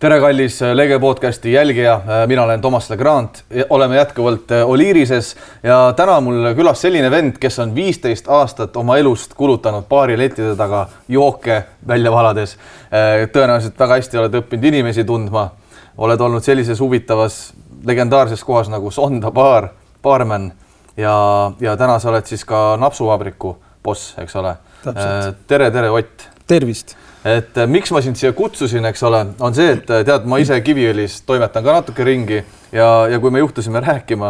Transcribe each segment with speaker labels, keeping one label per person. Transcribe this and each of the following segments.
Speaker 1: Tere kallis Lege podcasti jälgija, mina olen Toomas Legrand, oleme jätkuvalt Oliirises ja täna mul külas selline vend, kes on 15 aastat oma elust kulutanud baari lettide taga jooke välja valades. Tõenäoliselt väga hästi oled õppinud inimesi tundma, oled olnud sellises huvitavas legendaarses kohas nagu Sonda baar, baarman ja täna sa oled siis ka napsuvabriku boss, eks ole. Tere Ott.
Speaker 2: Tervist.
Speaker 1: Et miks ma sind siia kutsusin, eks ole, on see, et tead, ma ise Kiviõlis toimetan ka natuke ringi ja kui me juhtusime rääkima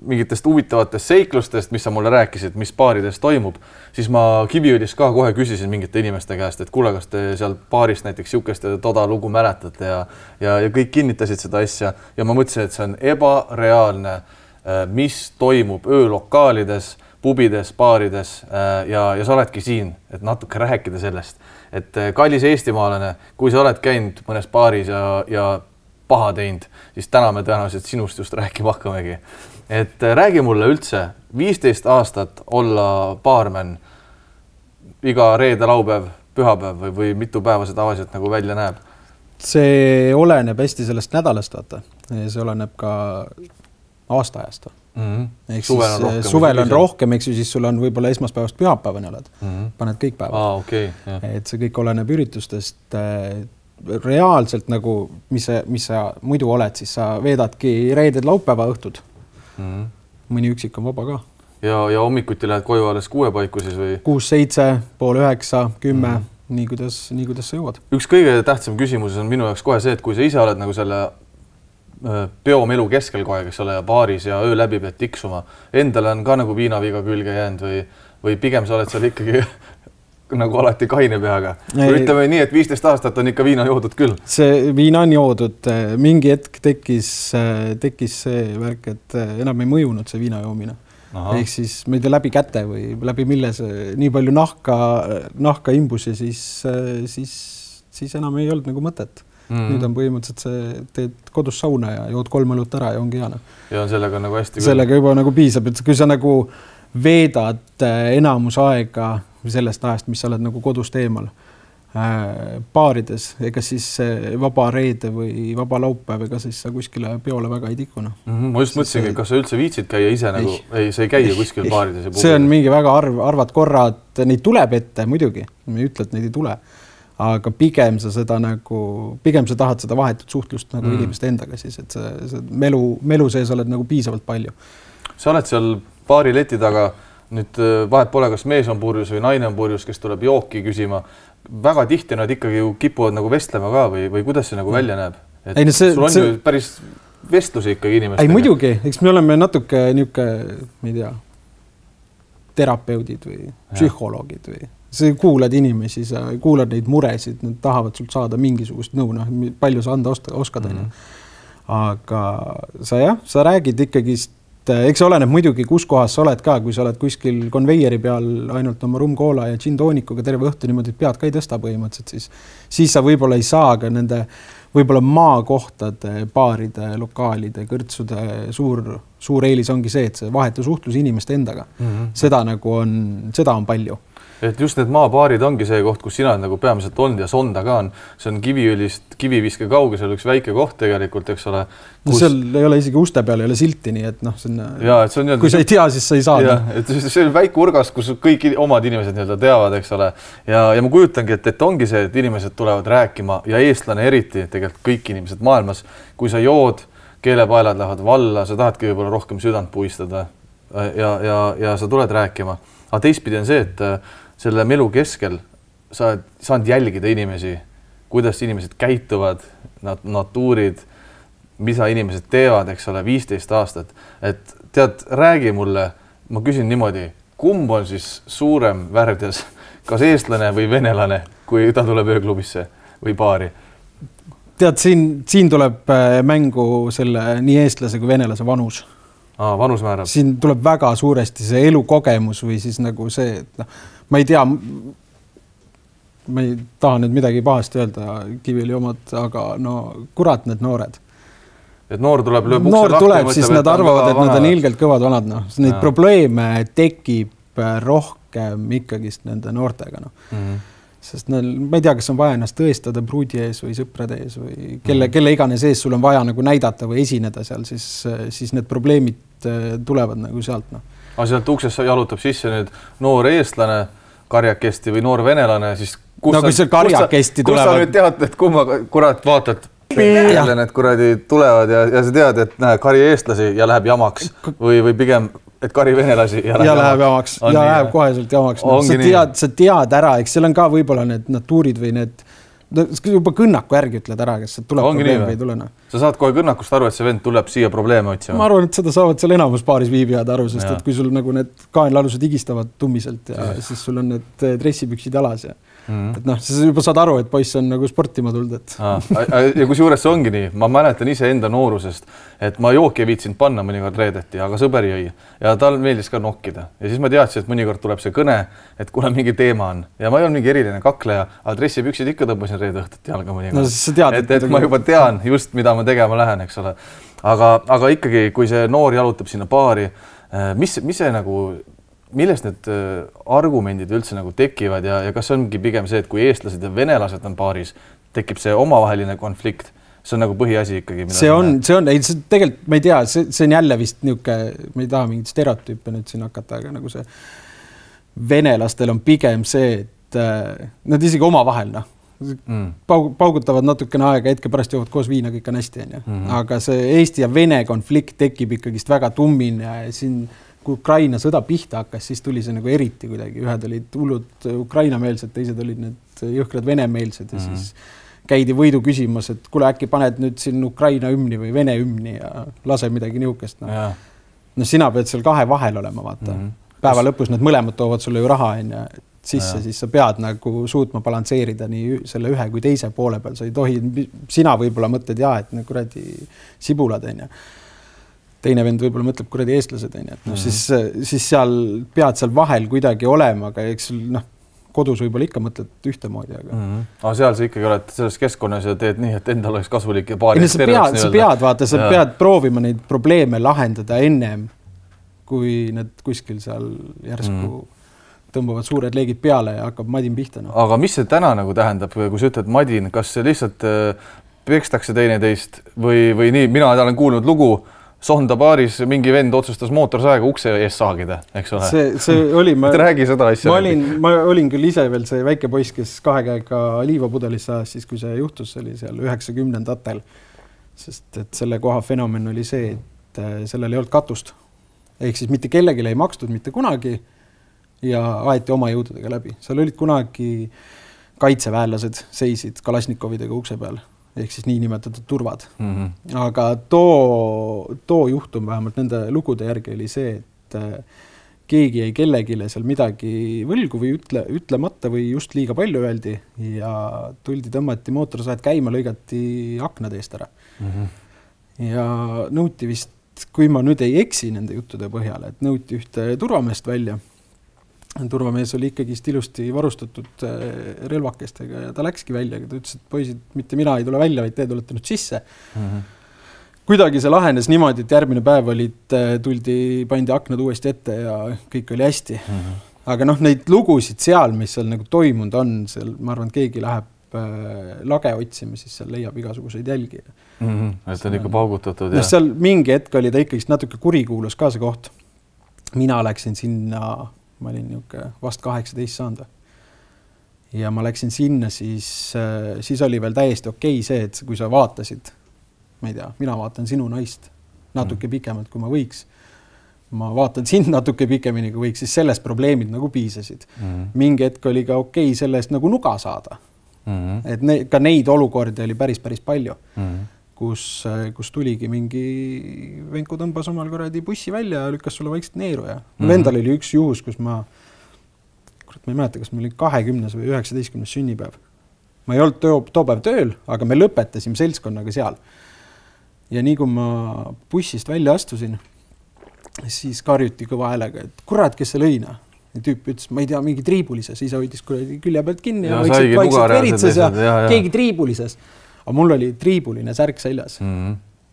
Speaker 1: mingitest huvitavatest seiklustest, mis sa mulle rääkisid, mis baarides toimub, siis ma Kiviõlis ka kohe küsisin mingite inimeste käest, et kuule, kas te seal baarist näiteks siukest toda lugu mäletate ja kõik kinnitasid seda asja ja ma mõtlesin, et see on ebareaalne, mis toimub öölokaalides, pubides, baarides ja sa oledki siin, et natuke rääkida sellest. Et kallis eestimaalane, kui sa oled käinud mõnes baaris ja paha teinud, siis täna me tõenäoliselt sinust just rääkima hakkamegi. Et räägi mulle üldse 15 aastat olla baarman iga reede, laupäev, pühapäev või mitu päeva see tavaliselt nagu välja näeb?
Speaker 2: See oleneb hästi sellest nädalast, vaata. See oleneb ka aastaajast. Suvel on rohkem, eks ju, siis sul on võib-olla esmaspäevast pühapäevani oled. Paned kõik päevad. Et see kõik oleneb üritustest. Reaalselt nagu, mis sa muidu oled, siis sa veedadki reeded laupäeva õhtud. Mõni üksik on vaba ka.
Speaker 1: Ja hommikuti lähed koju alles 6 paiku siis või?
Speaker 2: 6, 7, pool 9, 10, nii kuidas sa jõuad.
Speaker 1: Üks kõige tähtsam küsimus on minu jaoks kohe see, et kui sa ise oled nagu selle peomelu keskel kohe, kes ole baaris ja öö läbi pead tiksuma. Endale on ka nagu viinaviga külge jäänud või pigem sa oled seal ikkagi nagu alati kaine peaga. Ütleme nii, et 15 aastat on ikka viina joodud küll.
Speaker 2: See viina on joodud. Mingi hetk tekkis see värk, et enam ei mõjunud see viina joomine. Ehk siis ma ei tea läbi käte või läbi mille see nii palju nahka imbus ja siis enam ei olnud nagu mõtet. Nüüd on põhimõtteliselt see, teed kodus sauna ja jood 3 õlut ära ja ongi hea.
Speaker 1: Ja on sellega nagu hästi.
Speaker 2: Sellega juba nagu piisab, et kui sa nagu veedad enamus aega sellest ajast, mis sa oled nagu kodust eemal baarides, ega siis vaba reede või vaba laupäev, ega siis sa kuskile peole väga ei tikuna.
Speaker 1: Ma just mõtlesingi, kas sa üldse viitsid käia ise nagu, sa ei käia kuskil baarides ja
Speaker 2: see on mingi väga arvad korrad, neid tuleb ette muidugi, ma ei ütle, et neid ei tule. Aga pigem sa tahad seda vahetut suhtlust nagu inimeste endaga siis, et see melu sees oled nagu piisavalt palju.
Speaker 1: Sa oled seal baari leti taga, nüüd vahet pole, kas mees on purjus või naine on purjus, kes tuleb jooki küsima. Väga tihti nad ikkagi ju kipuvad nagu vestlema ka või kuidas see nagu välja näeb? Sul on ju päris vestlusi ikkagi inimestega.
Speaker 2: Ei muidugi, eks me oleme natuke niuke, ma ei tea, terapeudid või psühholoogid või sa kuulad inimesi, sa kuulad neid muresid, nad tahavad sult saada mingisugust nõu, palju sa anda oskad. Aga sa räägid ikkagi, eks oleneb muidugi, kus kohas sa oled ka, kui sa oled kuskil konveieri peal ainult oma rumkoola ja džintoonikuga terve õhtu niimoodi, et pead ka ei tõsta põhimõtteliselt, siis sa võib-olla ei saa ka nende võib-olla maakohtade, baaride, lokaalide, kõrtsude suur eelis ongi see, et see vahetu suhtlus inimeste endaga. Seda on palju.
Speaker 1: Et just need maabaarid ongi see koht, kus sina nagu peamiselt olnud ja Sonda ka on. See on Kiviõlist Kiviviske kauge, seal üks väike koht tegelikult, eks ole.
Speaker 2: Seal ei ole isegi uste peal, ei ole silti, nii et kui sa ei tea, siis sa ei saa.
Speaker 1: See on väike urgas, kus kõik omad inimesed teavad, eks ole. Ja ma kujutangi, et ongi see, et inimesed tulevad rääkima ja eestlane eriti, tegelikult kõik inimesed maailmas. Kui sa jood, keelepaelad lähevad valla, sa tahadki võib-olla rohkem südant puistada ja sa tuled rääkima. Aga teistpidi on see, et selle melu keskel sa saad jälgida inimesi, kuidas inimesed käituvad, natuurid, mida inimesed teevad, eks ole, 15 aastat. Et tead, räägi mulle, ma küsin niimoodi, kumb on siis suurem värdjas, kas eestlane või venelane, kui ta tuleb ööklubisse või baari?
Speaker 2: Tead, siin tuleb mängu selle nii eestlase kui venelase vanus.
Speaker 1: Vanus määrab.
Speaker 2: Siin tuleb väga suuresti see elukogemus või siis nagu see, et ma ei tea, ma ei taha nüüd midagi pahasti öelda Kiviõli omad, aga kurat need noored.
Speaker 1: Et noor tuleb lööb
Speaker 2: ukse lahti. Siis nad arvavad, et nad on ilgelt kõvad vanad. Neid probleeme tekib rohkem ikkagist nende noortega. sest ma ei tea, kas on vaja ennast tõestada pruudi ees või sõprade ees või kelle iganes ees sul on vaja nagu näidata või esineda seal, siis need probleemid tulevad nagu sealt. No.
Speaker 1: Aga sealt uksest jalutab sisse nüüd noor eestlane, karjakesti või noor venelane, siis
Speaker 2: kui see karjakesti tulevad.
Speaker 1: Kus sa nüüd tead, et kumma kurat vaatad peale need kuradi tulevad ja sa tead, et kari eestlasi ja läheb jamaks või pigem et kari venelasi ja
Speaker 2: läheb jamaks ja läheb koheselt jamaks. No, sa tead ära, eks seal on ka võib-olla need natuurid või need juba kõnnaku järgi ütled ära, kas tuleb probleem või ei tule.
Speaker 1: Sa saad kohe kõnnakust aru, et see vend tuleb siia probleeme otsima.
Speaker 2: Ma arvan, et seda saavad seal enamus paaris viibijad aru, sest et kui sul nagu need kaenlalused higistavad tummiselt ja siis sul on need dressipüksid jalas ja et noh, sa juba saad aru, et poiss on nagu sportima tulnud.
Speaker 1: Ja kus juures see ongi nii, ma mäletan ise enda noorusest, et ma jooki ei viitsinud panna mõnikord reedeti, aga sõber jõi ja tal meeldis ka nokkida. Ja siis ma teadsin, et mõnikord tuleb see kõne, et kuna mingi teema on ja ma ei olnud mingi eriline kakleja, aga dressipüksid ikka tõmbasin reede õhtut jalga mõnikord.
Speaker 2: No, sa tead,
Speaker 1: et ma juba tean just, mida ma tegema lähen, eks ole. Aga ikkagi, kui see noor jalutab sinna paari, mis see nagu millest need argumendid üldse nagu tekivad ja kas ongi pigem see, et kui eestlased ja venelased on paaris, tekib see omavaheline konflikt? See on nagu põhiasi ikkagi.
Speaker 2: See on, tegelikult ma ei tea, see on jälle vist niisugune, ma ei taha mingit stereotüüpe nüüd siin hakata, aga nagu see venelastel on pigem see, et nad isegi omavahel, paugutavad natukene aega, hetke pärast jõuavad koos viina, kõik on hästi, aga see Eesti ja Vene konflikt tekib ikkagist väga tummine ja siin kui Ukraina sõda pihta hakkas, siis tuli see nagu eriti kuidagi. Ühed olid hullud Ukraina-meelsed, teised olid need jõhkrad Vene-meelsed ja siis käidi võidu küsimas, et kuule, äkki paned nüüd siin Ukraina hümni või Vene hümni ja lase midagi niukest. No sina pead seal kahe vahel olema, vaata. Päeva lõpus need mõlemad toovad sulle ju raha sisse, siis sa pead nagu suutma balansseerida nii selle ühe kui teise poole peal. Sa ei tohi, sina võib-olla mõtled et kuradi sibulad teine vend võib-olla mõtleb kuradi eestlased, siis seal pead seal vahel kuidagi olema, aga eks kodus võib-olla ikka mõtled ühtemoodi.
Speaker 1: Aga seal sa ikkagi oled selles keskkonnas ja teed nii, et endal oleks kasulik ja paari
Speaker 2: sa pead proovima neid probleeme lahendada ennem, kui need kuskil seal järsku tõmbavad suured leegid peale ja hakkab madin pihta.
Speaker 1: Aga mis see täna nagu tähendab, kui sa ütled madin, kas see lihtsalt pekstakse teineteist või nii, mina olen kuulnud lugu, Sonda baaris mingi vend otsustas mootorsaega ukse ees saagida, eks ole.
Speaker 2: See oli,
Speaker 1: räägi seda asja.
Speaker 2: Ma olin küll ise veel see väike poiss, kes 2 käega liivapudelisse ajas, siis kui see juhtus, oli seal 90-ndatel. Sest et selle koha fenomen oli see, et sellel ei olnud katust. Ehk siis mitte kellelegi ei makstud mitte kunagi ja aeti oma jõududega läbi. Seal olid kunagi kaitseväelased seisid Kalasnikovidega ukse peal. Ehk siis niinimetatud turvad. Aga too juhtum vähemalt nende lugude järgi oli see, et keegi jäi kellegile seal midagi võlgu või ütlemata või just liiga palju öeldi ja tuldi tõmmati mootorsaed käima, lõigati aknad eest ära. Ja nõuti vist, kui ma nüüd ei eksi nende juttude põhjal, et nõuti ühte turvameest välja. Turvamees oli ikkagi ilusti varustatud relvakestega ja ta läkski välja, ta ütles, et poisid, mitte mina ei tule välja, vaid te tulete nüüd sisse. Kuidagi see lahenes niimoodi, et järgmine päev pandi aknad uuesti ette ja kõik oli hästi. Aga neid lugusid seal, mis seal nagu toimunud on, seal, ma arvan, et keegi läheb lage otsima, siis seal leiab igasuguseid jälgi.
Speaker 1: Et on ikka paugutatud.
Speaker 2: Seal mingi hetk oli ta ikkagi natuke kurikuulus ka see koht. Mina läksin sinna, ma olin vast 18 saanud. Ja ma läksin sinna, siis oli veel täiesti okei see, et kui sa vaatasid, ma ei tea, mina vaatan sinu naist natuke pikemalt, kui ma võiks. Ma vaatan sind natuke pikemini, kui võiks, siis sellest probleemid nagu piisasid. Mingi hetk oli ka okei sellest nagu nuga saada. Et ka neid olukordi oli päris palju. Kus tuligi mingi venku tõmbas omal korradi bussi välja ja lükkas sulle vaikselt neeru ja mul endal oli üks juhus, kus ma ei mäleta, kas meil oli 20 või 19 sünnipäev. Ma ei olnud too päev tööl, aga me lõpetasime seltskonnaga seal. Ja nii kui ma bussist välja astusin, siis karjuti kõva häälega, et kurat, kes see lõina? Ja tüüp ütles, ma ei tea, mingi triibulises, isa hoidis külje pealt kinni ja vaikselt veritses ja keegi triibulises. Aga mul oli triibuline särk seljas.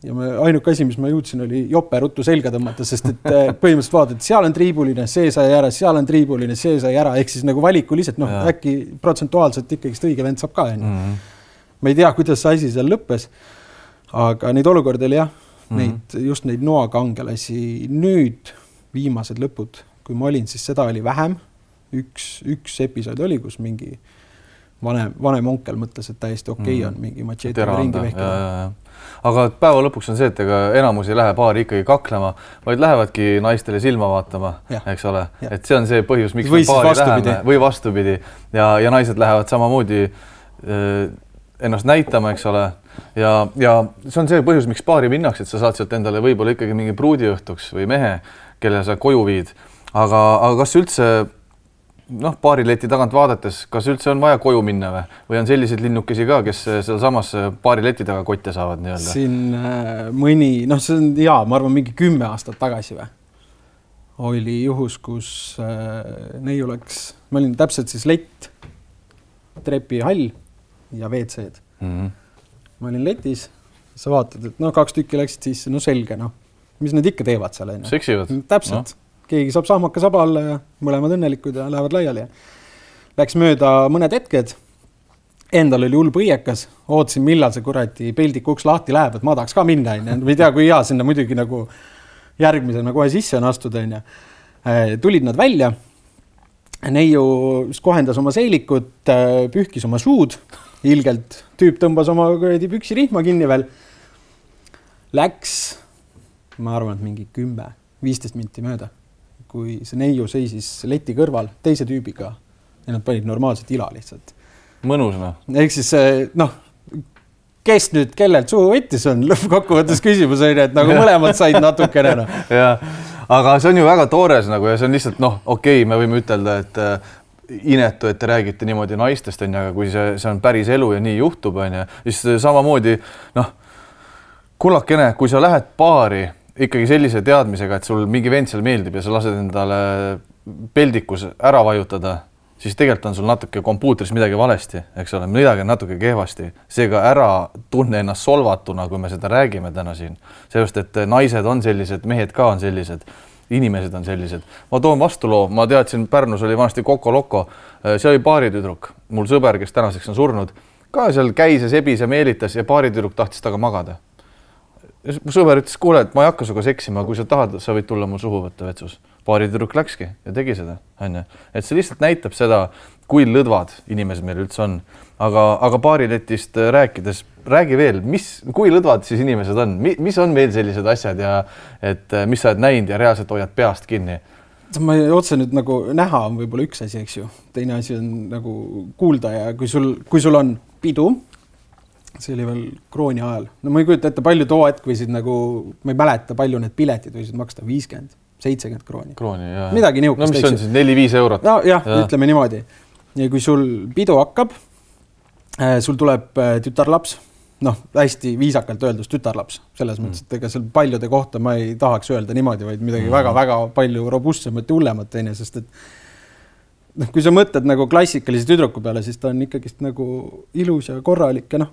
Speaker 2: ja ainuke asi, mis ma jõudsin, oli jope ruttu selga tõmmata, sest et põhimõtteliselt vaatad, seal on triibuline, see sai ära, seal on triibuline, see sai ära, ehk siis nagu valikuliselt, äkki protsentuaalselt ikkagi õige vend saab ka. Ma ei tea, kuidas see asi seal lõppes, aga neid olukordi oli jah, just neid noakangelasi nüüd viimased lõpud, kui ma olin, siis seda oli vähem. Üks episood oli, kus mingi vanem onkel mõtles, et täiesti okei on mingi matšeetiga ringi vehkida.
Speaker 1: Aga päeva lõpuks on see, et ega enamus ei lähe paari ikkagi kaklema, vaid lähevadki naistele silma vaatama, eks ole. Et see on see põhjus, miks me paari läheme või vastupidi. Ja naised lähevad samamoodi ennast näitama, eks ole. Ja see on see põhjus, miks paari minnaks, et sa saad sealt endale võib-olla ikkagi mingi pruudiõhtuks või mehe, kelle sa koju viid. Aga kas üldse paarileti tagant vaadates, kas üldse on vaja koju minna või on sellised linnukesi ka, kes seal samas paarileti taga kotte saavad nii-öelda?
Speaker 2: Siin mõni, see on ma arvan mingi 10 aastat tagasi oli juhus, kus neiu läks, ma olin täpselt siis lett, trepihall ja WC-d. Ma olin letis, sa vaatad, et 2 tükki läksid sisse, selge, mis nad ikka teevad seal?
Speaker 1: Seksivad?
Speaker 2: Täpselt. Keegi saab sahmaka saba alla ja mõlemad õnnelikud ja lähevad laiali. Läks mööda mõned hetked, endal oli hull põiekas, ootasin, millal see kuradi peldiku uks lahti läheb, et ma tahaks ka minna. Ma ei tea, kui hea sinna muidugi nagu järgmisena kohe sisse on astuda. Tulid nad välja, neiu kohendas oma seilikut, pühkis oma suud, ilgelt tüüp tõmbas oma püksi rihma kinni veel. Läks, ma arvan, et mingi 10-15 minti mööda, kui see neiu seisis leti kõrval teise tüübiga ja nad panid normaalselt ila lihtsalt.
Speaker 1: Mõnus,
Speaker 2: Ehk siis, kes nüüd kellelt suhu võttis on lõppkokkuvõttes küsimus, et nagu mõlemad said natukene.
Speaker 1: Aga see on ju väga toores ja see on lihtsalt, okei, me võime ütelda, et inetu, et te räägite niimoodi naistest, aga kui see on päris elu ja nii juhtub, siis samamoodi, kullakene, kui sa lähed paari ikkagi sellise teadmisega, et sul mingi vend seal meeldib ja sa lased endale peldikus ära vajutada, siis tegelikult on sul natuke kompuutris midagi valesti, eks ole, midagi on natuke kehvasti. Seega ära tunne ennast solvatuna, kui me seda räägime täna siin. Seepärast, et naised on sellised, mehed ka on sellised, inimesed on sellised. Ma toon vastuloo, ma teadsin, Pärnus oli vanasti Koko Loko, see oli paaritüdruk, mul sõber, kes tänaseks on surnud, ka seal käis ja sebis ja meelitas ja paaritüdruk tahtis taga magada. Mu sõber ütles, kuule, et ma ei hakka suga seksima, kui sa tahad, sa võid tulla mul suhu võtta vetsus. Paaritüdruk läkski ja tegi seda. Et see lihtsalt näitab seda, kui lõdvad inimesed meil üldse on. Aga paariletist rääkides, räägi veel, kui lõdvad siis inimesed on? Mis on veel sellised asjad ja et mis sa oled näinud ja reaalselt hoiad peast kinni?
Speaker 2: Ma otse nüüd nagu näha on võib-olla üks asi, eks ju. Teine asi on nagu kuulda ja kui sul on pidu, see oli veel krooni ajal. Ma ei kujuta ette, palju too hetk võisid nagu, ma ei mäleta, palju need piletid võisid maksta 50-70 krooni.
Speaker 1: Jah.
Speaker 2: Midagi niukast.
Speaker 1: Mis on siis 4-5 eurot?
Speaker 2: Ütleme niimoodi. Ja kui sul pidu hakkab, sul tuleb tütarlaps, hästi viisakalt öeldus tütarlaps, selles mõttes, et ega seal paljude kohta ma ei tahaks öelda niimoodi, vaid midagi väga-väga palju robustsemat ja hullemat, sest et kui sa mõtled nagu klassikalise tüdruku peale, siis ta on ikkagi nagu ilus ja korralik ja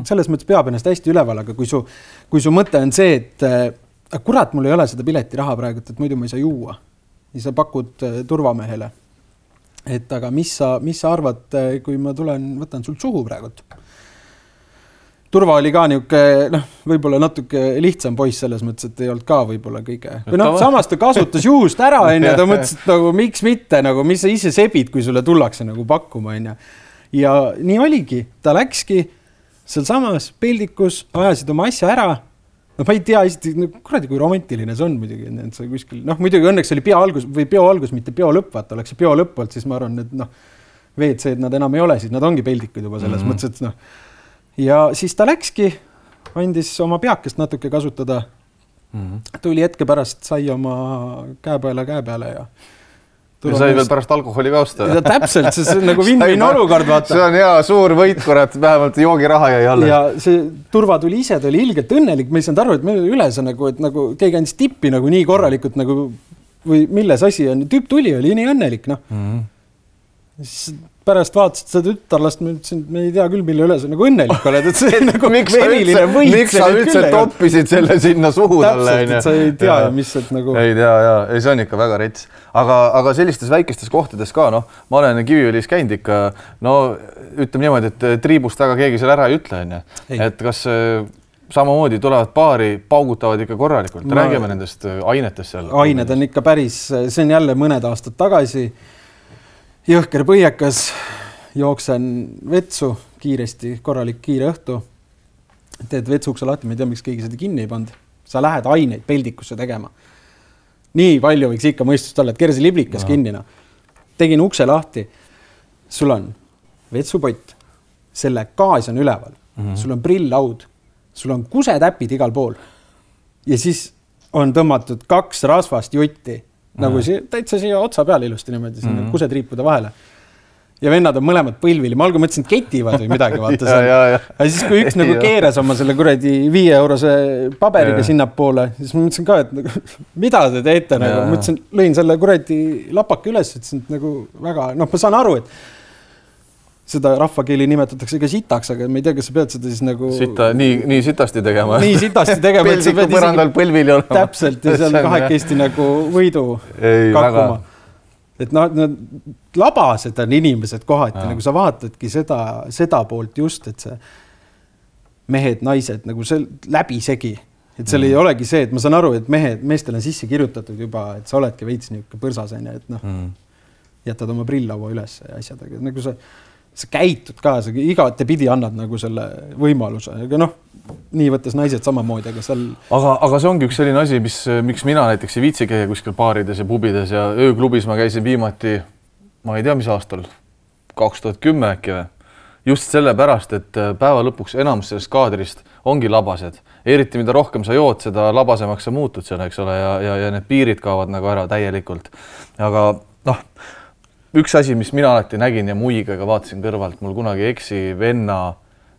Speaker 2: selles mõttes peab ennast hästi üleval, aga kui su mõte on see, et kurat, mul ei ole seda piletiraha praegu, et muidu ma ei saa juua. Ja sa pakud turvamehele. Et aga mis sa arvad, kui ma võtan sul suhu praegu? Turva oli ka niuke, võib-olla natuke lihtsam poiss selles mõttes, et ei olnud ka võib-olla kõige. Või samas ta kasutas juhust ära, ja ta mõtles, et nagu, miks mitte, nagu, mis sa ise sebid, kui sulle tullakse nagu pakkuma. Ja nii oligi, ta läkski seal samas peldikus, ajasid oma asja ära. Ma ei tea, kuradi, kui romantiline see on muidugi. See kuskil, muidugi õnneks oli peo algus, mitte peo lõpp, vaata, oleks see peo lõpp olnud, siis ma arvan, et WC-d nad enam ei ole, siis nad ongi peldikud juba selles mõttes, et ja siis ta läkski, andis oma peakest natuke kasutada. Tuli hetke pärast, sai oma käepeale ja
Speaker 1: sai veel pärast alkoholi ka osta.
Speaker 2: Täpselt, see on nagu win-win olukord, vaata.
Speaker 1: See on hea suur võit, kurat, vähemalt joogiraha jäi alla.
Speaker 2: Ja see Turva tuli ise, ta oli ilgelt õnnelik, ma ei saanud aru, et meil üles on nagu keegi andis tippi nagu nii korralikult nagu, või milles asi on. Tüüp tuli, oli nii õnnelik, pärast vaatasid seda tütarlast, ma ütlesin, et me ei tea küll, mille üle sa nagu õnnelik oled, et see nagu
Speaker 1: miks sa üldse toppisid selle sinna suhu talle?
Speaker 2: Täpselt, et sa ei tea ja mis et nagu...
Speaker 1: Ei tea, ei, see on ikka väga rets. Aga sellistes väikestes kohtades ka, noh, ma olen Kiviõlis käinud ikka, no ütleme niimoodi, et triibust väga keegi seal ära ei ütle, et kas samamoodi tulevad paari, paugutavad ikka korralikult. Räägime nendest ainetest seal.
Speaker 2: Ained on ikka päris, see on jälle mõned aastad tagasi. Jõhker põiekas, jooksen vetsu kiiresti, korralik kiire õhtu. Teed vetsukse lahti, ma ei tea, miks keegi seda kinni ei pand. Sa lähed aineid peldikusse tegema. Nii palju võiks ikka mõistust olla, et kersi liblikas kinnina. Tegin ukse lahti. Sul on vetsupott, selle gaas on üleval, sul on prillaud, sul on kusetäpid igal pool ja siis on tõmmatud 2 rasvast jutti. Nagu täitsa siia otsa peal ilusti niimoodi, sinna kusetriipude vahele. Ja vennad on mõlemad põlvili. Ma algul mõtlesin, ketivad või midagi, vaata seal. Ja siis, kui üks nagu keeras oma selle kuradi 5 eurose paberiga sinna poole, siis ma mõtlesin ka, et mida te teete? Nagu, mõtlesin, lõin selle kuradi lapaka üles, et nagu väga, noh, ma saan aru, et seda rahvakeeli nimetatakse ka sitaks, aga ma ei tea, kas sa pead seda siis nagu...
Speaker 1: Nii sitasti tegema.
Speaker 2: Nii sitasti tegema.
Speaker 1: Peldiku põrandal põlvili olema.
Speaker 2: Täpselt, ja seal kahekesti nagu võidu kakkuma. Et nad labased on inimesed kohati, nagu sa vaatadki seda poolt just, et see mehed, naised nagu see läbisegi. Et seal ei olegi see, et ma saan aru, et meestel on sisse kirjutatud juba, et sa oledki veits niisugune põrsasene, et noh, jätad oma prillaua üles ja asjadega. Nagu sa käitud ka, sa igate pidi annad nagu selle võimaluse. Aga noh, nii võttes naised samamoodi, aga seal...
Speaker 1: Aga see ongi üks selline asi, miks mina näiteks ei viitsi käia kuskil baarides ja pubides ja ööklubis ma käisin viimati, ma ei tea, mis aastal, 2010 äkki või. Just sellepärast, et päeva lõpuks enamus sellest kaadrist ongi labased. Eriti mida rohkem sa jood, seda labasemaks sa muutud seal, eks ole, ja need piirid kaovad nagu ära täielikult. Aga noh, üks asi, mis mina alati nägin ja muigaga vaatasin kõrvalt, mul kunagi eksi venna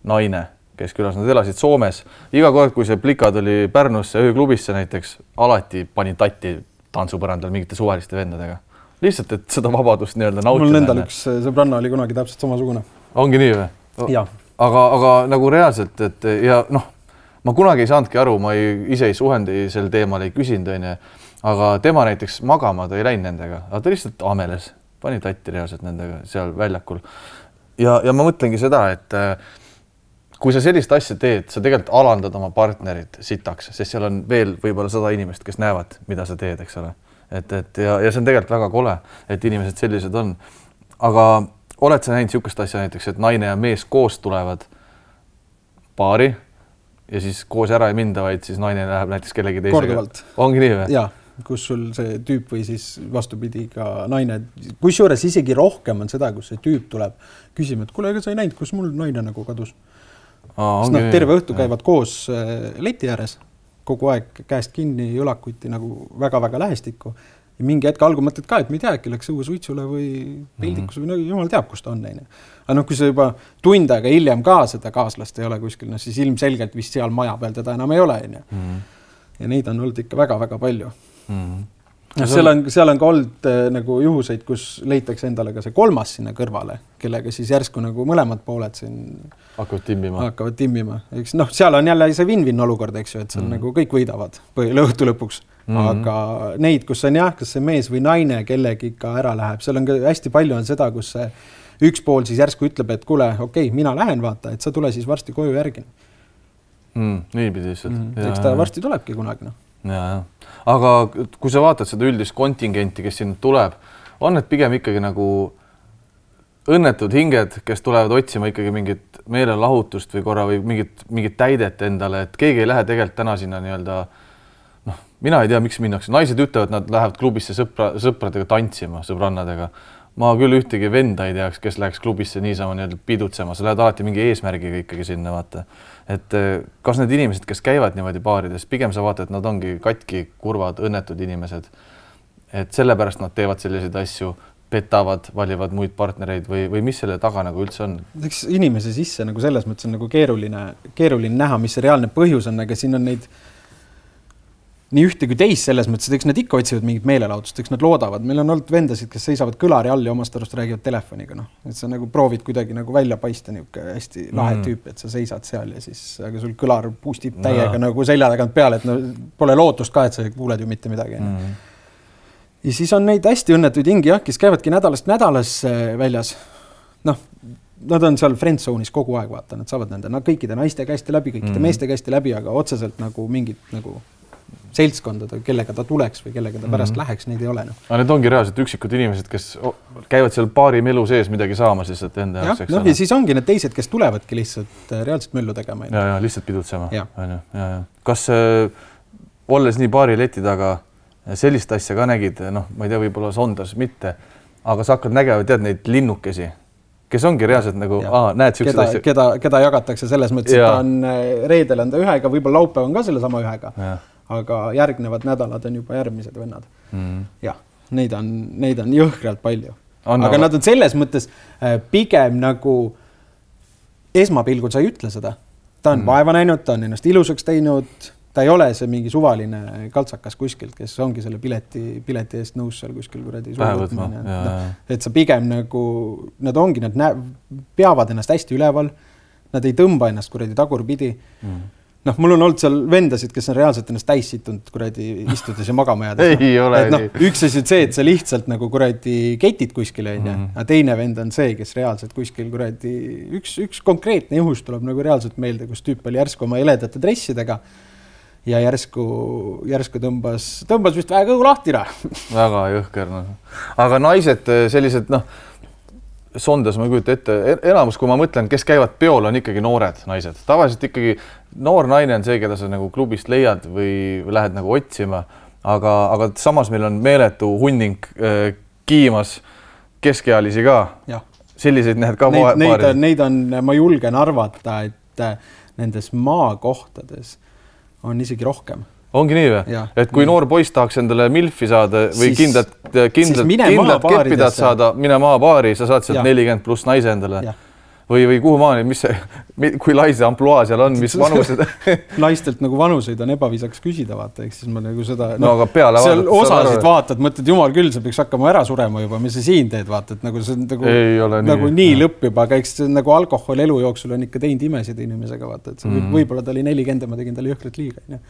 Speaker 1: naine, kes külas, nad elasid Soomes. Iga kord, kui see plikad oli Pärnusse ööklubisse näiteks, alati pani tatti tantsupõrandal mingite suvaliste vendadega. Lihtsalt, et seda vabadust nii-öelda nautida.
Speaker 2: Mul nendal üks sõbranna oli kunagi täpselt samasugune.
Speaker 1: Ongi nii või?
Speaker 2: Jah.
Speaker 1: Aga nagu reaalselt, et ja noh, ma kunagi ei saanudki aru, ma ise ei suhendi sel teemal, ei küsinud, aga tema näiteks magama, ta ei läinud nendega, aga ta lihtsalt ameles. Pani tatti reaalselt nendega seal väljakul. Ja ma mõtlengi seda, et kui sa sellist asja teed, sa tegelikult alandad oma partnerit sitaks, sest seal on veel võib-olla 100 inimest, kes näevad, mida sa teed, eks ole. Ja see on tegelikult väga kole, et inimesed sellised on. Aga oled sa näinud niisugust asja näiteks, et naine ja mees koos tulevad paari ja siis koos ära ei minda, vaid siis naine läheb näiteks kellegi teisega?
Speaker 2: Korduvalt.
Speaker 1: Ongi nii või?
Speaker 2: Jaa. Kus sul see tüüp või siis vastupidi ka naine, kus juures isegi rohkem on seda, kus see tüüp tuleb küsima, et kuule, ega sa ei näinud, kus mul naine nagu kadus. Nad terve õhtu käivad koos leti ääres, kogu aeg käest kinni, jõlakuti nagu väga-väga lähestikku. Ja mingi hetk algul mõtled ka, et me ei tea, äkki läks õue suitsule või pildikus või jumal teab, kus ta on neine. Aga noh, kui sa juba tund aega hiljem ka seda kaaslast ei ole kuskil, no siis ilmselgelt vist seal maja peal teda enam ei ole. Ja neid on olnud ikka väga-väga palju. Seal on ka olnud nagu juhuseid, kus leitakse endale ka see kolmas sinna kõrvale, kellega siis järsku nagu mõlemad pooled siin hakkavad timmima. Noh, seal on jälle see win-win olukord, eks ju, et seal nagu kõik võidavad õhtu lõpuks. Aga neid, kus on jah, kas see mees või naine kellegi ikka ära läheb, seal on ka hästi palju on seda, kus see üks pool siis järsku ütleb, et kuule, okei, mina lähen vaata, et sa tule siis varsti koju järgi.
Speaker 1: Niipidi lihtsalt.
Speaker 2: Eks ta varsti tulebki kunagi, noh.
Speaker 1: Ja. Aga kui sa vaatad seda üldist kontingenti, kes siin tuleb, on need pigem ikkagi nagu õnnetud hinged, kes tulevad otsima ikkagi mingit meelelahutust või korra või mingit täidet endale, et keegi ei lähe tegelikult täna sinna nii-öelda, noh, mina ei tea, miks minnakse. Naised ütlevad, nad lähevad klubisse sõpradega tantsima, sõbrannadega. Ma küll ühtegi venda ei teaks, kes läheks klubisse niisama nii-öelda pidutsema. Sa lähed alati mingi eesmärgiga ikkagi sinna, vaata. Et kas need inimesed, kes käivad niimoodi baarides, pigem sa vaata, et nad ongi katki, kurvad, õnnetud inimesed. Et sellepärast nad teevad selliseid asju, petavad, valivad muid partnereid või mis selle taga nagu üldse on?
Speaker 2: Eks inimese sisse nagu selles mõttes on nagu keeruline näha, mis see reaalne põhjus on, aga siin on nii ühte kui teist selles mõttes, et eks nad ikka otsivad mingit meelelaudust, eks nad loodavad. Meil on olnud vendasid, kes seisavad kõlari all ja omast arust räägivad telefoniga. No. Et sa nagu proovid kuidagi nagu välja paista niuke hästi lahe tüüp, et sa seisad seal ja siis aga sul kõlar puustib täiega nagu selja tagant peale, et no, pole lootust ka, et sa kuuled ju mitte midagi. Ja siis on neid hästi õnnetuid hingi, kes käivadki nädalast väljas. Noh, nad on seal friendzone'is kogu aeg, vaata, nad saavad nende kõikide naiste käeste läbi, kõikide meeste käeste läbi, aga otseselt nagu mingit nagu seltskondada, kellega ta tuleks või kellega ta pärast läheks, neid ei ole. No.
Speaker 1: Aga need ongi reaalselt üksikud inimesed, kes käivad seal paari melu sees midagi saamas lihtsalt enda jaoks.
Speaker 2: Ja siis ongi need teised, kes tulevadki lihtsalt reaalselt möllu tegema.
Speaker 1: Ja, lihtsalt pidutsema. Kas olles nii paari leti taga sellist asja ka nägid, noh, ma ei tea, võib-olla Sondas mitte, aga sa hakkad nägema, tead neid linnukesi, kes ongi reaalselt nagu, näed siuksed asja.
Speaker 2: Keda jagatakse selles mõttes, et ta on reedel on ta ühega, võib-olla laupäev on ka selle sama ühega, aga järgnevad nädalad on juba järgmised vennad. Jah, neid on jõhkralt palju. Aga nad on selles mõttes pigem nagu esmapilgul sa ei ütle seda. Ta on vaeva näinud, ta on ennast ilusaks teinud, ta ei ole see mingi suvaline kaltsakas kuskilt, kes ongi selle pileti eest nõus seal kuskil kuradi suuvõtmine. Et sa pigem nagu, nad peavad ennast hästi üleval, nad ei tõmba ennast kuradi tagurpidi. Noh, mul on olnud seal vendasid, kes on reaalselt ennast täissitunud kuradi istudes ja magama jäädes.
Speaker 1: Ei ole
Speaker 2: nii. Üks asi on see, et sa lihtsalt nagu kuradi ketid kuskile, aga teine vend on see, kes reaalselt kuskil kuradi, üks konkreetne juhus tuleb nagu reaalselt meelde, kus tüüp oli järsku oma eledate dressidega ja järsku tõmbas vist väga kõhu lahtira.
Speaker 1: Väga jõhker. No. Aga naised sellised, Sondas ma kujuta ette, enamus, kui ma mõtlen, kes käivad peol, on ikkagi noored naised. Tavaliselt ikkagi noor naine on see, keda sa nagu klubist leiad või lähed nagu otsima, aga samas meil on meeletu hunning kiimas keskealisi ka. Ja. Selliseid näed ka paari.
Speaker 2: Neid on, ma julgen arvata, et nendes maakohtades on isegi rohkem.
Speaker 1: Ongi nii või? Et kui noor poiss tahaks endale milfi saada või kindlalt keppidad saada, mine maapaari, sa saad sealt 40 pluss naise endale. Või kuhu maani, kui lai see ampluaa seal on, mis vanused?
Speaker 2: Naistelt nagu vanuseid on ebaviisaks küsida, vaata, eks siis ma nagu seda...
Speaker 1: aga peale
Speaker 2: seal osasid vaatad, mõtled, jumal küll, sa peaks hakkama ära surema juba, mis sa siin teed, vaata, et nagu see on nagu nii lõpp juba, aga eks nagu alkohol elu jooksul on ikka teinud imesid inimesega, vaata, et võib-olla ta oli 40, ma tegin talle jõhkrat liiga.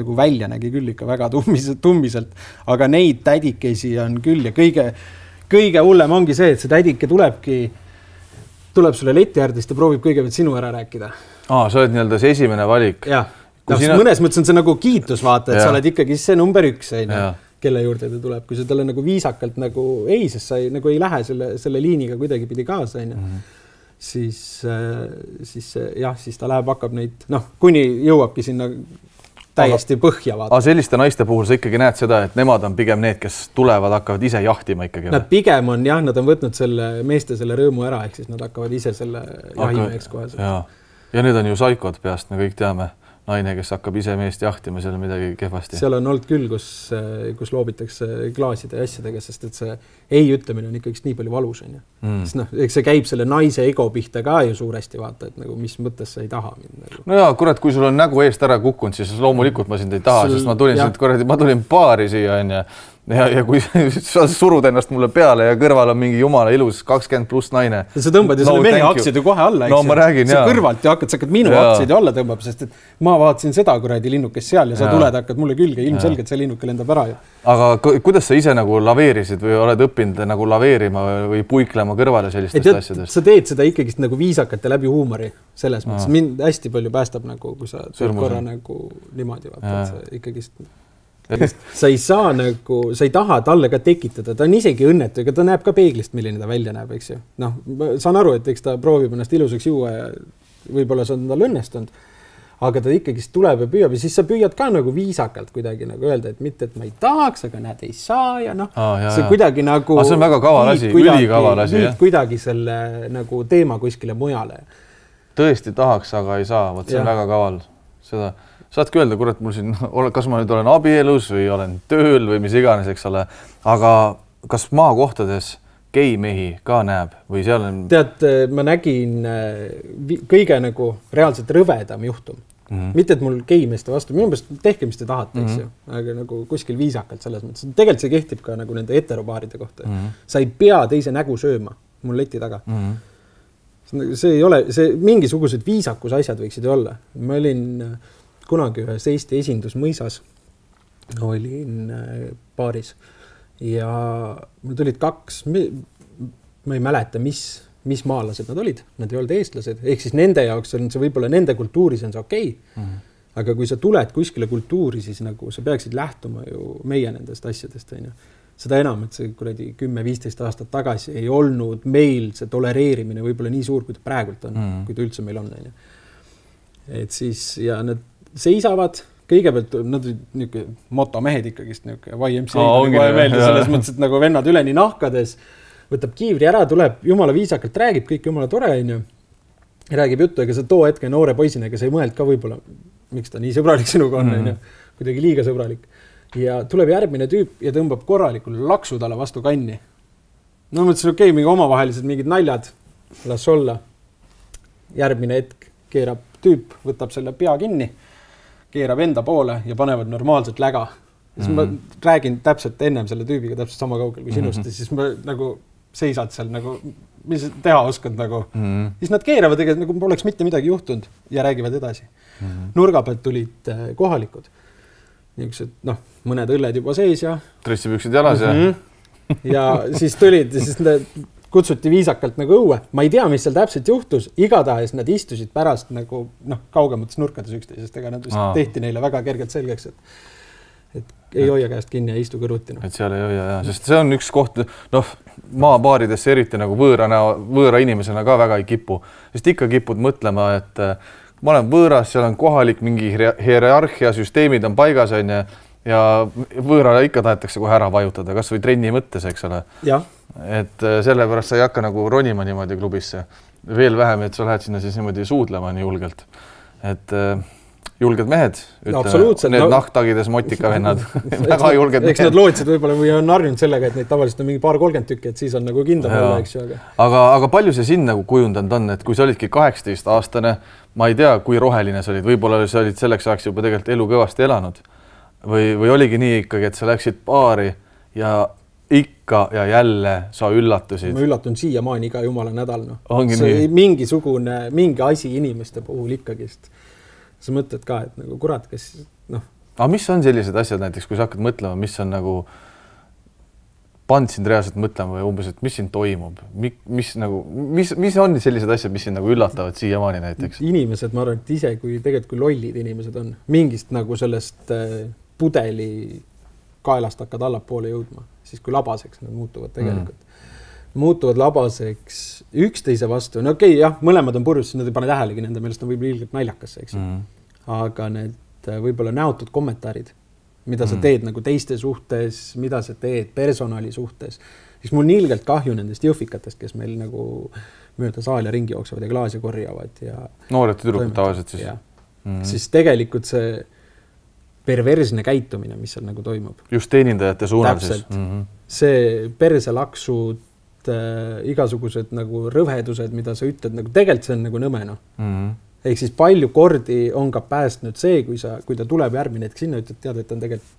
Speaker 2: Nagu välja nägi küll ikka väga tummiselt, aga neid tädikesi on küll ja kõige hullem ongi see, et see tädike tuleb sulle leti ärdist ja proovib kõigepealt sinu ära rääkida.
Speaker 1: Sa oled nii-öelda see esimene valik.
Speaker 2: Jah, mõnes mõttes on see nagu kiitus vaata, et sa oled ikkagi see number 1, kelle juurde ta tuleb. Kui sa talle nagu viisakalt nagu ei, sest sa nagu ei lähe selle liiniga kuidagi pidi kaasa, siis ta läheb, hakkab neid, kuni jõuabki sinna täiesti põhja vaata.
Speaker 1: Aga selliste naiste puhul sa ikkagi näed seda, et nemad on pigem need, kes tulevad, hakkavad ise jahtima ikkagi.
Speaker 2: Nad pigem on, nad on võtnud meeste selle rõõmu ära, ehk siis nad hakkavad ise selle jahimeheks kohe.
Speaker 1: Ja need on ju saikod peast, me kõik teame. Naine, kes hakkab ise meest jahtima, seal on midagi kehvasti.
Speaker 2: Seal on olnud küll, kus loobitakse klaaside ja asjadega, sest et see ei ütlemine on ikkagi nii palju valus. Eks see käib selle naise ego pihta ka ju suuresti vaata, et nagu, mis mõttes sa ei taha mind.
Speaker 1: No jaa, kurat, kui sul on nägu eest ära kukkunud, siis loomulikult ma sind ei taha, sest ma tulin paari siia ja kui sa surud ennast mulle peale ja kõrval on mingi jumala ilus 20 pluss naine.
Speaker 2: Sa tõmbad ju selle mehe aktsiad ju kohe alla,
Speaker 1: eks? No ma räägin,
Speaker 2: jaa. Sa kõrvalt ja hakkad minu aktsiad ju alla tõmbab, sest et ma vaatasin seda kuradi linnukest seal ja sa tuled, hakkad mulle külge, ilmselgelt see linnuke lendab ära ju.
Speaker 1: Aga kuidas sa ise nagu laveerisid või oled õppinud nagu laveerima või puiklema kõrvale sellistest asjadest?
Speaker 2: Sa teed seda ikkagi nagu viisakalt ja läbi huumori selles mõttes. Mind hästi palju päästab nagu, kui sa teed korra nagu niimoodi vaata, et sa ikkagist sa ei saa nagu, sa ei taha talle ka tekitada, ta on isegi õnnetu, ega ta näeb ka peeglist, milline ta välja näeb, eks ju. Saan aru, et eks ta proovib ennast ilusaks juua ja võib-olla see on tal õnnestunud, aga ta ikkagi tuleb ja püüab ja siis sa püüad ka nagu viisakalt kuidagi nagu öelda, et mitte, et ma ei tahaks, aga näed, ei saa ja see kuidagi nagu...
Speaker 1: see on väga kaval asi, ülikaval asi,
Speaker 2: jah? Kuidagi selle nagu teema kuskile mujale.
Speaker 1: Tõesti tahaks, aga ei saa, see on väga kaval. Seda... Saadki öelda, kurat, mul siin, kas ma nüüd olen abielus või olen tööl või mis iganes, eks ole, aga kas maakohtades geimehi ka näeb või seal on...
Speaker 2: Tead, ma nägin kõige nagu reaalselt rõvedam juhtum Mitte, et mul geimeeste vastu, minu meelest tehke, mis te tahate, eks ju, aga nagu kuskil viisakalt selles mõttes. Tegelikult see kehtib ka nagu nende heteropaaride kohta. Sa ei pea teise nägu sööma mul leti taga. See ei ole, see mingisugused viisakus asjad võiksid olla. Ma olin kunagi ühes Eesti esindusmõisas, olin baaris ja mul tulid 2, ma ei mäleta, mis maalased nad olid, nad ei olnud eestlased, ehk siis nende jaoks on see võib-olla nende kultuuris on see okei. Aga kui sa tuled kuskile kultuuri, siis nagu sa peaksid lähtuma ju meie nendest asjadest, on ju. Seda enam, et see kuradi 10-15 aastat tagasi ei olnud meil see tolereerimine võib-olla nii suur, kui ta praegult on, kui ta üldse meil on, on ju. Et siis, ja nad seisavad, kõigepealt nad olid niisugune motomehed ikkagist, niisugune YMCA meelde selles mõttes, et nagu vennad üleni nahkades, võtab kiivri ära, tuleb, jumala viisakalt räägib, kõik jumala tore, on ju. Räägib juttu, ega sa too hetke noore poisina, ega sa ei mõeld ka võib-olla, miks ta nii sõbralik sinuga on, on ju, kuidagi liiga sõbralik. Ja tuleb järgmine tüüp ja tõmbab korralikul laksu talle vastu kanni. No mõtlesin, okei, mingi omavahelised mingid naljad, las olla. Järgmine hetk keerab tüüp, võtab selle pea kinni, keerab enda poole ja panevad normaalselt läga. Siis ma räägin täpselt ennem selle tüübiga täpselt sama kaugel kui sinust ja siis ma nagu seisad seal nagu, mis teha oskad nagu. Siis nad keeravad tegelikult nagu poleks mitte midagi juhtunud ja räägivad edasi. Nurga pealt tulid kohalikud. Niisugused, noh, mõned õlled juba sees ja...
Speaker 1: Dressipüksid jalas
Speaker 2: ja siis tulid, siis kutsuti viisakalt nagu õue. Ma ei tea, mis seal täpselt juhtus. Igatahes nad istusid pärast nagu, noh, kaugemates nurkades üksteisest, ega nad tehti neile väga kergelt selgeks, et ei hoia käest kinni ja istu kõrvuti.
Speaker 1: Et seal ei hoia, sest see on üks koht, noh, maabaaridesse eriti nagu võõra inimesena ka väga ei kipu. Sest ikka kipud mõtlema, et ma olen võõras, seal on kohalik mingi hierarhia, süsteemid on paigas ja võõrale ikka tahetakse kohe ära vajutada, kas või trenni mõttes, eks ole.
Speaker 2: Ja.
Speaker 1: Et sellepärast sa ei hakka nagu ronima niimoodi klubisse. Veel vähem, et sa lähed sinna siis niimoodi suudlema nii julgelt. Et julged mehed, need nahktagides motikavennad, väga julged mehed.
Speaker 2: Eks nad lootsid võib-olla või on harjunud sellega, et neid tavaliselt on mingi 2-30 tükki, et siis on nagu kindlam olla, eks ju.
Speaker 1: Aga palju see siin nagu kujundanud on, et kui sa olidki 18-aastane, ma ei tea, kui roheline sa olid, võib-olla sa olid selleks ajaks juba tegelikult elu kõvasti elanud või oligi nii ikkagi, et sa läksid baari ja ikka ja jälle sa üllatusid. Ma
Speaker 2: üllatun siiamaani iga jumala nädal. No.
Speaker 1: See
Speaker 2: mingi asi inimeste puhul ikkagist. Sa mõtled ka, et nagu kurat, kes noh.
Speaker 1: Aga mis on sellised asjad näiteks, kui sa hakkad mõtlema, mis on nagu pand sind reaalselt mõtlema või umbes, et mis siin toimub? Mis on sellised asjad, mis sind nagu üllatavad siiamaani näiteks?
Speaker 2: Inimesed, ma arvan, et ise kui lollid inimesed on, mingist nagu sellest pudeli kaelast hakkad allapoole jõudma, siis kui labaseks nad muutuvad tegelikult. Muutuvad labaseks üksteise vastu. No okei, jah, mõlemad on purjus, siis nad ei pane tähelegi nende meelest on võib-olla ilgelt naljakasse, eks. Aga need võib-olla näotud kommentaarid, mida sa teed nagu teiste suhtes, mida sa teed personali suhtes, siis mul nii ilgelt kahju nendest jõhvikatest, kes meil nagu mööda saali ringi jooksavad ja klaasi korjavad ja
Speaker 1: noored tüdrukud tavaliselt siis.
Speaker 2: Siis tegelikult see perversne käitumine, mis seal nagu toimub.
Speaker 1: Just teenindajate suunal siis.
Speaker 2: See perselaksud, igasugused nagu rõvedused, mida sa ütled, nagu tegelikult see on nagu nõmeno. Ehk siis palju kordi on ka päästnud see, kui ta tuleb järgmine hetk sinna, ütled, tead, et on tegelikult.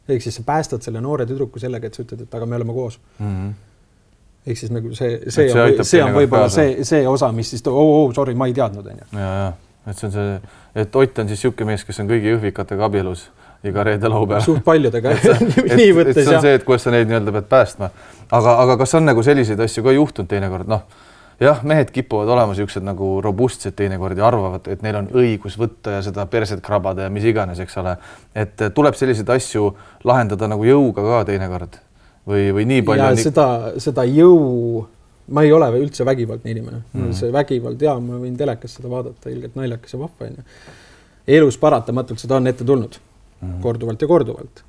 Speaker 2: Ehk siis sa päästad selle noore tüdruku sellega, et sa ütled, et aga me oleme koos. Ehk siis nagu see on võib-olla see osa, mis siis sorry, ma ei teadnud.
Speaker 1: Et see on see, et Ott on siis siuke mees, kes on kõigi jõhvikatega abielus iga reede laupäev.
Speaker 2: Suht paljudega nii võttes.
Speaker 1: See on see, et kuidas sa neid nii-öelda pead päästma. Aga kas on nagu selliseid asju ka juhtunud teinekord? Noh, jah, mehed kipuvad olema siuksed nagu robustsed teinekord ja arvavad, et neil on õigus võtta ja seda perset krabada ja mis iganes, eks ole. Et tuleb selliseid asju lahendada nagu jõuga ka teinekord või nii palju.
Speaker 2: Ja seda jõu, ma ei ole üldse vägivaldne inimene. See vägivald, ja ma võin telekas seda vaadata, ilgelt naljakas ja vahva. Elus paratamatult seda on ette tulnud. Korduvalt ja korduvalt.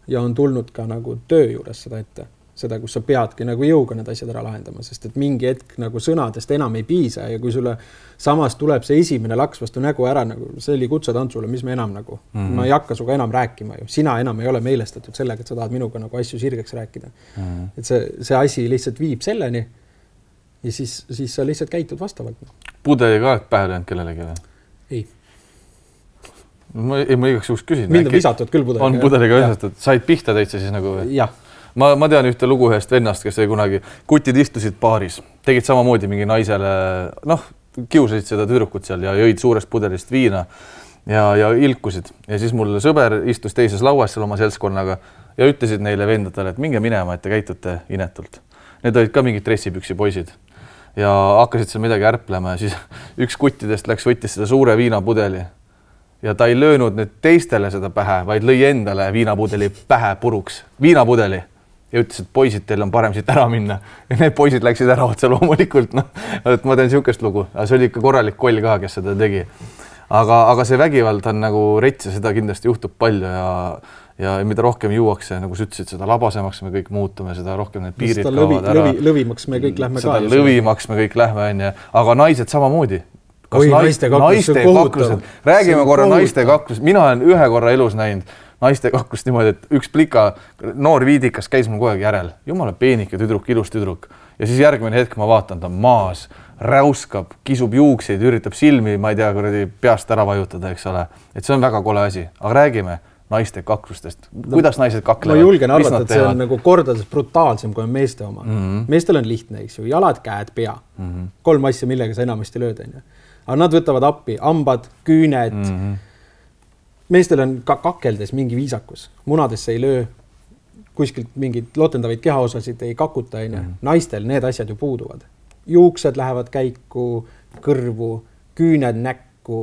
Speaker 2: Ja on tulnud ka nagu töö juures seda ette. Seda, kus sa peadki nagu jõuga need asjad ära lahendama, sest et mingi hetk nagu sõnadest enam ei piisa ja kui sulle samas tuleb see esimene laks vastu nägu ära, nagu see oli kutsetantsule, mis me enam nagu, ma ei hakka suga enam rääkima ju, sina enam ei ole meelestatud sellega, et sa tahad minuga nagu asju sirgeks rääkida. Et see asi lihtsalt viib selleni ja siis sa lihtsalt käitud vastavalt.
Speaker 1: Pudeli ka pähe löönud kellelegi?
Speaker 2: Ei.
Speaker 1: Ma igaks juhuks küsin.
Speaker 2: Mind on visatud küll pudeliga.
Speaker 1: On pudeliga visatud. Said pihta täitsa siis nagu või?
Speaker 2: Jah.
Speaker 1: Ma tean ühte lugu ühest vennast, kes oli kunagi, kutid istusid baaris, tegid samamoodi mingi naisele, kiusasid seda tüdrukut seal ja jõid suurest pudelist viina ja ilkusid. Ja siis mul sõber istus teises lauas seal oma seltskonnaga ja ütlesid neile vendadele, et minge minema, et te käitute inetult. Need olid ka mingid dressipüksi poisid ja hakkasid seal midagi ärplema ja siis üks kuttidest võttis seda suure viinapudeli ja ta ei löönud nüüd teistele seda pähe, vaid lõi endale viinapudeli pähe puruks. Viinapudeli. Ja ütles, et poisid, teil on parem siit ära minna. Ja need poisid läksid ära otse loomulikult. Et ma teen siukest lugu. See oli ikka korralik koll ka, kes seda tegi. Aga see vägivald on nagu rets ja seda kindlasti juhtub palju ja mida rohkem juuakse, nagu sa ütlesid, seda labasemaks me kõik muutume, seda rohkem need piirid kaovad ära.
Speaker 2: Lõvimaks me kõik lähme ka.
Speaker 1: Lõvimaks me kõik lähme, aga naised samamoodi.
Speaker 2: Naiste kaklused.
Speaker 1: Räägime korra naiste kaklused. Mina olen ühe korra elus näinud naiste kaklust niimoodi, et üks plika noor viidikas käis mul kogu aeg järel. Jumala peenike tüdruk, ilus tüdruk. Ja siis järgmine hetk ma vaatan, ta maas, räuskab, kisub juukseid, üritab silmi, ma ei tea, kuradi peast ära vajutada, eks ole. Et see on väga kole asi. Aga räägime naiste kaklustest. Kuidas naised kaklevad?
Speaker 2: Ma julgen arvata, et see on nagu kordades brutaalsem, kui on meeste oma. Meestel on lihtne, eks ju. Jalad, käed, pea. 3 asja, millega sa enamasti lööd. Aga nad võtavad appi, hambad, küüned. Meestel on ka kakeldes mingi viisakus. Munadesse ei löö, kuskilt mingid lotendavaid kehaosasid ei kakuta. Naistel need asjad ju puuduvad. Juuksed lähevad käiku, kõrvu, küüned näkku.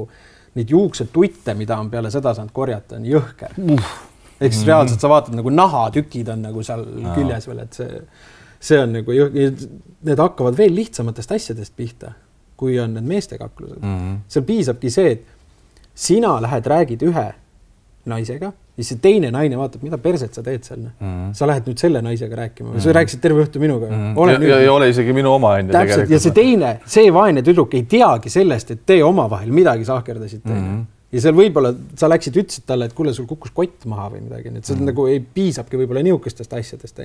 Speaker 2: Neid juuksed tutte, mida on peale seda saanud korjata, on jõhker. Eks reaalselt sa vaatad, nagu nahatükid on nagu seal küljes veel, et see on nagu need hakkavad veel lihtsamatest asjadest pihta, kui on need meeste kaklused. Seal piisabki see, et sina lähed, räägid ühe naisega ja see teine naine vaatab, mida perset sa teed seal. Sa lähed nüüd selle naisega rääkima. Sa rääkisid terve õhtu minuga.
Speaker 1: Ei ole isegi minu oma enne.
Speaker 2: Täpselt. Ja see teine, see vaene tüdruk ei teagi sellest, et te omavahel midagi sahkerdasid teine. Ja seal võib-olla sa läksid ütlesid talle, et kuule, sul kukkus kott maha või midagi. Et see nagu ei piisabki võib-olla niukestest asjadest.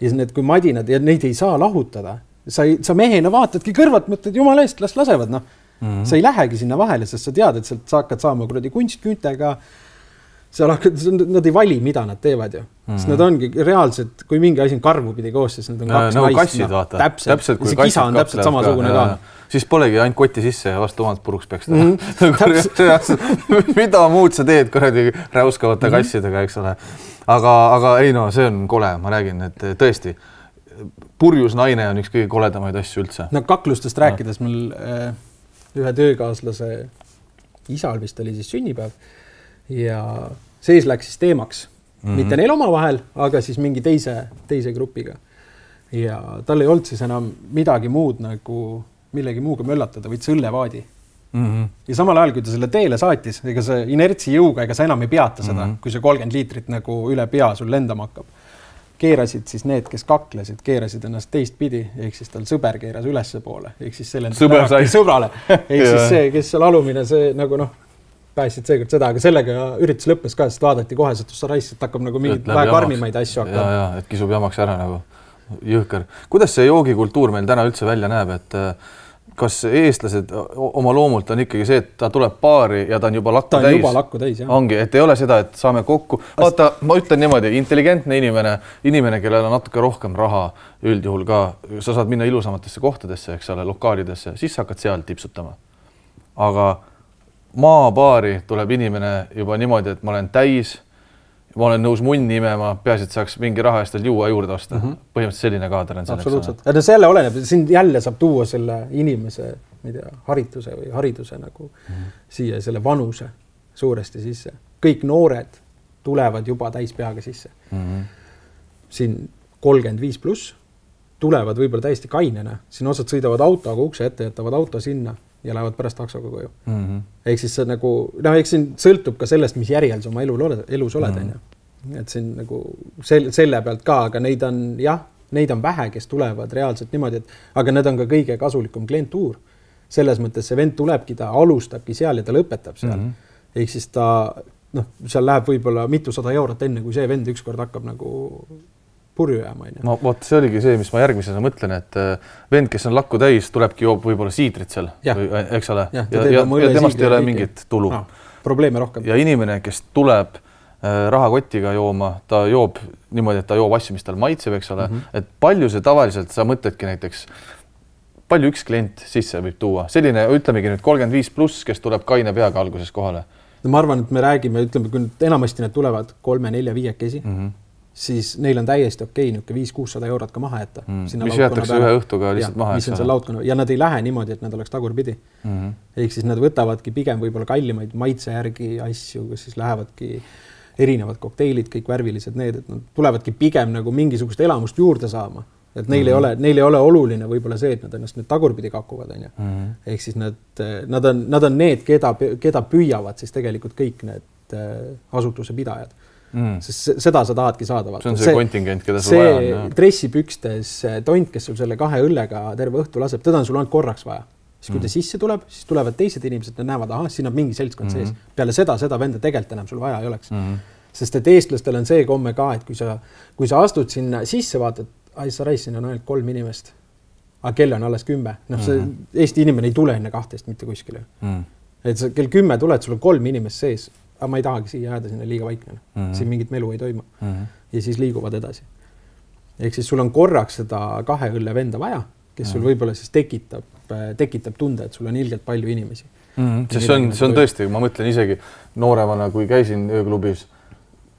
Speaker 2: Ja need, kui madinad ja neid ei saa lahutada. Sa mehena vaatadki kõrvalt, mõtled, jumala eest, las lasevad. Sa ei lähegi sinna vahele, sest sa tead, et sa hakkad saama kuradi kunstküüntega. Nad ei vali, mida nad teevad ju. Sest nad ongi reaalselt, kui mingi asi on karvu pidi koos, siis nad on 2 naist.
Speaker 1: Kassid, vaata.
Speaker 2: Täpselt. See kisa on täpselt samasugune ka.
Speaker 1: Siis polegi ainult kotti sisse ja vastu omad puruks peaks teha. Mida muud sa teed kuradi räuskavate kassidega, eks ole. Aga ei see on kole, ma räägin, et tõesti purjus naine on üks kõige koledamaid asju üldse.
Speaker 2: Kaklustest rääkides mul ühe töökaaslase isal vist oli siis sünnipäev ja sees läks siis teemaks. Mitte neil oma vahel, aga siis mingi teise grupiga. Ja tal ei olnud siis enam midagi muud nagu millegi muuga möllatada, võid õllevaadi. Ja samal ajal, kui ta selle teele saatis, ega see inertsi jõuga, ega sa enam ei peata seda, kui see 30 liitrit nagu üle pea sul lendama hakkab. Keerasid siis need, kes kaklesid, keerasid ennast teistpidi, ehk siis tal sõber keeras ülesse poole, ehk siis selle sõbrale. Ehk siis see, kes seal alumine, see nagu pääsid seekord seda, aga sellega üritus lõppes ka, sest vaadati kohe, et sa raisid, hakkab nagu mingid vähe karmimaid asju hakkab.
Speaker 1: Ja, et kisub jamaks ära nagu jõhker. Kuidas see joogikultuur meil täna üldse välja näeb, et kas eestlased oma loomult on ikkagi see, et ta tuleb paari ja ta on juba lakku täis? Ta on juba
Speaker 2: lakku täis, jah.
Speaker 1: Ongi, et ei ole seda, et saame kokku. Vaata, ma ütlen niimoodi, intelligentne inimene, kellel on natuke rohkem raha üldjuhul ka, sa saad minna ilusamatesse kohtadesse, eks ole, lokaalidesse, siis sa hakkad seal tipsutama. Aga maapaari tuleb inimene juba niimoodi, et ma olen täis, ma olen nõus munni imema, peaasi, et saaks mingi raha eest juua juurde osta. Põhimõtteliselt selline kaader on selleks.
Speaker 2: Absoluutselt. Selle oleneb, siin jälle saab tuua selle inimese harituse või hariduse nagu siia selle vanuse suuresti sisse. Kõik noored tulevad juba täispeaga sisse. Siin 35 plus tulevad võib-olla täiesti kainena. Siin osad sõidavad autoga ukse ette, jätavad auto sinna ja lähevad pärast taksoga koju. Ehk siis see nagu, ehk siin sõltub ka sellest, mis järjel sa oma elus oled. Et siin nagu selle pealt ka, aga neid on vähe, kes tulevad reaalselt niimoodi, aga need on ka kõige kasulikum klientuur. Selles mõttes see vend tulebki, ta alustabki seal ja ta lõpetab seal. Ehk siis ta, seal läheb võib-olla mitusada eurot enne, kui see vend ükskord hakkab nagu purju jääma.
Speaker 1: See oligi see, mis ma järgmisena mõtlen, et vend, kes on lakku täis, tulebki joob võib-olla siidrit seal, eks ole, ja temast ei ole mingit tulu.
Speaker 2: probleeme rohkem.
Speaker 1: Ja inimene, kes tuleb rahakotiga jooma, ta joob niimoodi, et ta joob asju, mis tal maitseb, eks ole, et palju see tavaliselt, sa mõtledki näiteks, palju üks klient sisse võib tuua, selline, ütlemegi nüüd 35+, kes tuleb kaine peaga alguses kohale.
Speaker 2: No ma arvan, et me räägime, ütleme, kui enamasti need tulevad 3, 4, 5 siis neil on täiesti okei, 500-600 eurot ka maha jätta.
Speaker 1: Mis jätakse ühe õhtuga lihtsalt maha.
Speaker 2: Mis on seal laudkonna ja nad ei lähe niimoodi, et nad oleks tagurpidi. Ehk siis nad võtavadki pigem võib-olla kallimaid maitse järgi asju, kus siis lähevadki erinevad kokteilid, kõik värvilised need, et nad tulevadki pigem nagu mingisugust elamust juurde saama. Et neil ei ole oluline võib-olla see, et nad ennast nüüd tagurpidi kakuvad. Ehk siis nad on need, keda püüavad siis tegelikult kõik need asutuse pidajad. Sest seda sa tahadki saada.
Speaker 1: See on see kontingent, keda sul vaja on.
Speaker 2: See dressipükstes tont, kes sul selle 2 õllega terve õhtu laseb, teda on sul ainult korraks vaja. Siis kui ta sisse tuleb, siis tulevad teised inimesed, nad näevad, siin on mingi seltskond sees. Peale seda venda tegelikult enam sul vaja ei oleks. Sest et eestlastel on see komme ka, et kui sa astud sinna sisse, vaatad, sa reis, siin on ainult 3 inimest. Aga kell on alles 10. See Eesti inimene ei tule enne 12 mitte kuskile. Et sa kell 10 tuled, sul on 3 inimest sees, aga ma ei tahagi siia jääda sinna liiga vaikne. Siin mingit melu ei toimu. Ja siis liiguvad edasi. Ehk siis sul on korraks seda 2 õlle venda vaja, kes sul võib-olla siis tekitab tunde, et sul on ilgelt palju inimesi.
Speaker 1: See on tõesti, ma mõtlen isegi nooremana, kui käisin ööklubis,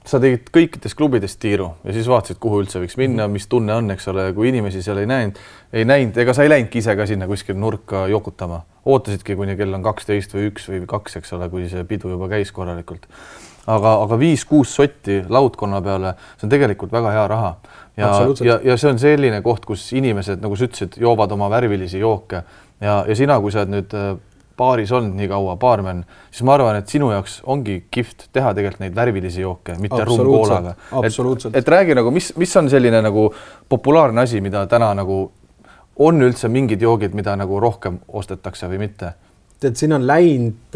Speaker 1: sa tegid kõikides klubidest tiiru ja siis vaatasid, kuhu üldse võiks minna, mis tunne on, eks ole, kui inimesi seal ei näinud, ega sa ei läinudki ise ka sinna kuskil nurka jokutama. Ootasidki, kuni kell on 12 või 1 või 2, eks ole, kui see pidu juba käis korralikult. Aga 5-6 sotti laudkonna peale, see on tegelikult väga hea raha. Ja see on selline koht, kus inimesed, nagu sa ütlesid, joovad oma värvilisi jooke ja sina, kui sa oled nüüd baaris olnud nii kaua, baarmen, siis ma arvan, et sinu jaoks ongi kihvt teha tegelikult neid värvilisi jooke, mitte rumkoolaga. Et räägi nagu, mis on selline nagu populaarne asi, mida täna nagu on üldse mingid joogid, mida nagu rohkem ostetakse või mitte?
Speaker 2: Et siin on läinud,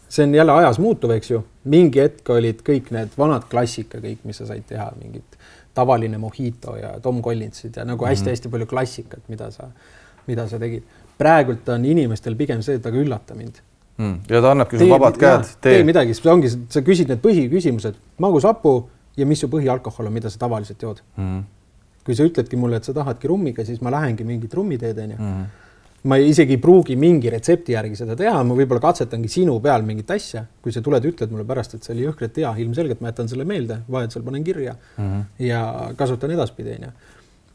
Speaker 2: see on jälle ajas muutuv, eks ju. Mingi hetk olid kõik need vanad klassika, kõik, mis sa said teha, mingid tavaline mojito ja Tom Collinsid ja nagu hästi-hästi palju klassikat, mida sa tegid. Praegult on inimestel pigem see, et aga üllata mind.
Speaker 1: Ja ta annabki sul vabad käed.
Speaker 2: Tee midagi, sa küsid need põhiküsimused, magusapu ja mis su põhialkohol on, mida sa tavaliselt jood. Kui sa ütledki mulle, et sa tahadki rummiga, siis ma lähengi mingit rummiteed. Ma isegi ei pruugi mingi retsepti järgi seda teha, ma võib-olla katsetangi sinu peal mingit asja. Kui sa tuled, ütled mulle pärast, et see oli jõhkret hea, ilmselgelt ma jätan selle meelde, vahel seal panen kirja ja kasutan edaspidi.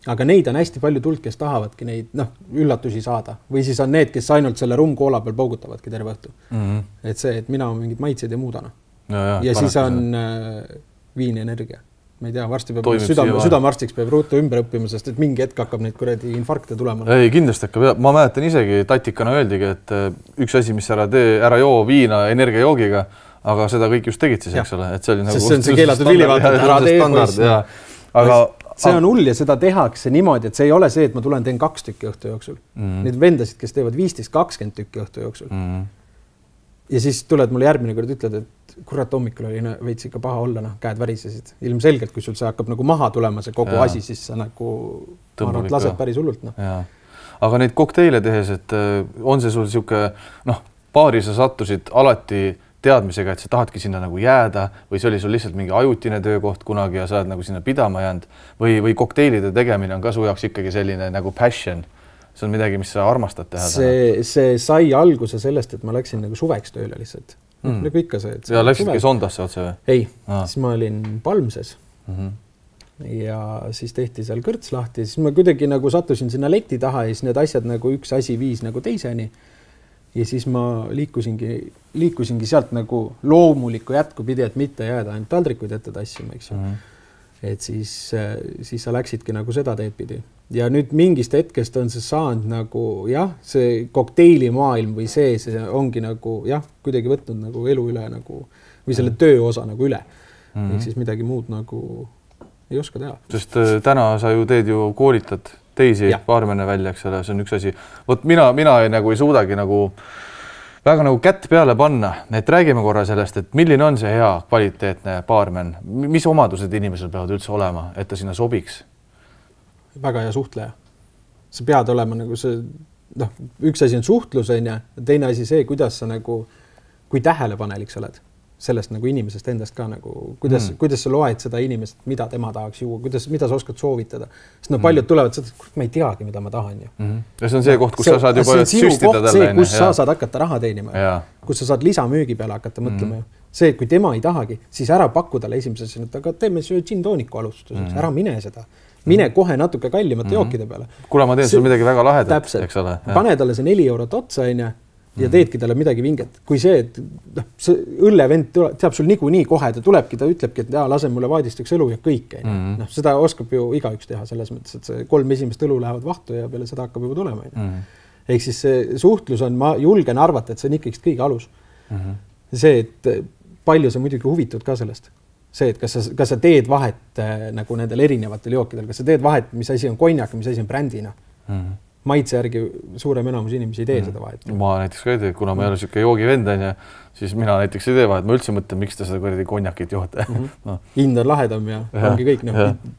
Speaker 2: Aga neid on hästi palju tuld, kes tahavadki neid üllatusi saada. Või siis on need, kes ainult selle rumkoola peal poogutavadki terve õhtu. Et see, et mina on mingid maitseid ja muudana. Ja siis on viinienergia. Ma ei tea, varsti peab südamearstiks peab ruutu ümber õppima, sest et mingi hetk hakkab neid kuradi infarkte tulema.
Speaker 1: Ei, kindlasti hakkab. Ma mäletan isegi tatikana öeldigi, et üks asi, mis ära joo viina energiajoogiga, aga seda kõik just tegid siis, eks ole. Et see oli nagu...
Speaker 2: See on see keelatud vilivaatad, ära tee poiss. Aga see on hull ja seda tehakse niimoodi, et see ei ole see, et ma tulen teen 2 tükki õhtu jooksul. Need vendasid, kes teevad 15-20 tükki õhtu jooksul. Ja siis tuled mulle järgmine kord ütled, et kurat hommikul oli veits ikka paha olla, käed värisesid. Ilmselgelt, kui sul see hakkab nagu maha tulema see kogu asi, siis sa nagu lased päris hullult.
Speaker 1: Aga neid kokteile tehes, et on see sul siuke, baari sa sattusid alati teadmisega, et sa tahadki sinna nagu jääda või see oli sul lihtsalt mingi ajutine töökoht kunagi ja sa oled nagu sinna pidama jäänud või kokteilide tegemine on ka su jaoks ikkagi selline nagu passion. See on midagi, mis sa armastad teha.
Speaker 2: See sai alguse sellest, et ma läksin nagu suveks tööle lihtsalt. Nagu ikka see.
Speaker 1: Ja läksidki Sondasse otse või?
Speaker 2: Ei, siis ma olin Palmses ja siis tehti seal kõrts lahti. Siis ma kuidagi nagu sattusin sinna leti taha ja siis need asjad nagu üks asi viis nagu teiseni. Ja siis ma liikusingi sealt nagu loomulikku jätku pidi, et mitte jääda ainult taldrikuid ette tassima, eks ju. Et siis sa läksidki nagu seda teed pidi. Ja nüüd mingist hetkest on see saanud nagu, see kokteili maailm või see ongi nagu, kuidagi võtnud nagu elu üle nagu, või selle töö osa nagu üle. Ehk siis midagi muud nagu ei oska teha. Sest
Speaker 1: täna sa ju teed ju koolitad teisi baarmene välja, eks ole, see on üks asi. Võt mina nagu ei suudagi nagu väga nagu kätt peale panna, et räägime korra sellest, et milline on see hea kvaliteetne baarmen, mis omadused inimesel peavad üldse olema, et ta sinna sobiks?
Speaker 2: Väga hea suhtleja. Sa pead olema nagu see, üks asi on suhtlus, ja teine asi see, kuidas sa nagu kui tähelepanelik sa oled sellest nagu inimesest endast ka nagu, kuidas sa loed seda inimest, mida tema tahaks juua, mida sa oskad soovitada. Sest no paljud tulevad seda, et ma ei teagi, mida ma tahan ju.
Speaker 1: Ja see on see koht, kus sa saad juba süstida talle.
Speaker 2: Kus sa saad hakata raha teenima. Kus sa saad lisamüügi peale hakata mõtlema. See, kui tema ei tahagi, siis ära pakku talle esimeses, et aga teeme gin tooniku alustuseks, ära mine seda. Mine kohe natuke kallimate jookide peale.
Speaker 1: Kuule, ma teen sul midagi väga lahedat, eks ole.
Speaker 2: Pane talle see 4 eurot otsa, ja teedki talle midagi vinget. Kui see, et see õllevend teab sul niikuinii kohe, ta tulebki, ta ütlebki, et lase mulle vaadistaks õlu ja kõik. Seda oskab ju igaüks teha selles mõttes, et see 3 esimest õlu lähevad vahtu ja peale seda hakkab juba tulema. Ehk siis see suhtlus on, ma julgen arvata, et see on ikkagi kõige alus. See, et palju sa muidugi huvitud ka sellest. See, et kas sa teed vahet nagu nendel erinevatel jookidel, kas sa teed vahet, mis asi on konjak, mis asi on brändina. Maitse järgi suurem enamus inimesi ei tee seda vahet.
Speaker 1: Ma näiteks ka ei tee, kuna ma ei ole siuke joogivend, siis mina näiteks ei tee vahet. Ma üldse mõtlen, miks te seda kuradi konjakit joote.
Speaker 2: Hind on lahedam ja ongi kõik.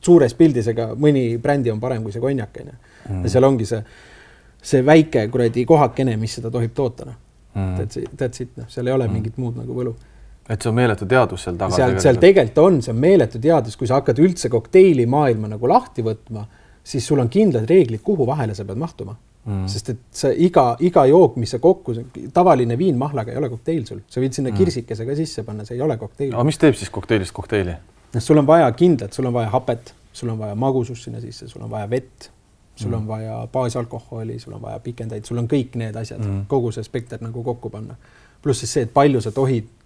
Speaker 2: Suures pildis, ega mõni brändi on parem kui see konjak. Ja seal ongi see väike kuradi kohakene, mis seda tohib toota. That's it. Seal ei ole mingit muud nagu võlu.
Speaker 1: Et see on meeletu teadus seal taga.
Speaker 2: Seal tegelikult on, see on meeletu teadus, kui sa hakkad üldse kokteili maailma nagu lahti võtma, siis sul on kindlad reeglid, kuhu vahele sa pead mahtuma. Sest et see iga jook, mis sa kokku, tavaline viin mahlaga ei ole kokteil sul. Sa võid sinna kirsikese ka sisse panna, see ei ole kokteil.
Speaker 1: Aga mis teeb siis kokteilist kokteili?
Speaker 2: Sul on vaja kindlat, sul on vaja hapet, sul on vaja magusust sinna sisse, sul on vaja vett, sul on vaja baasalkoholi, sul on vaja pikendaid, sul on kõik need asjad, kogu see spekter nagu kokku panna. Pluss siis see, et palju sa tohid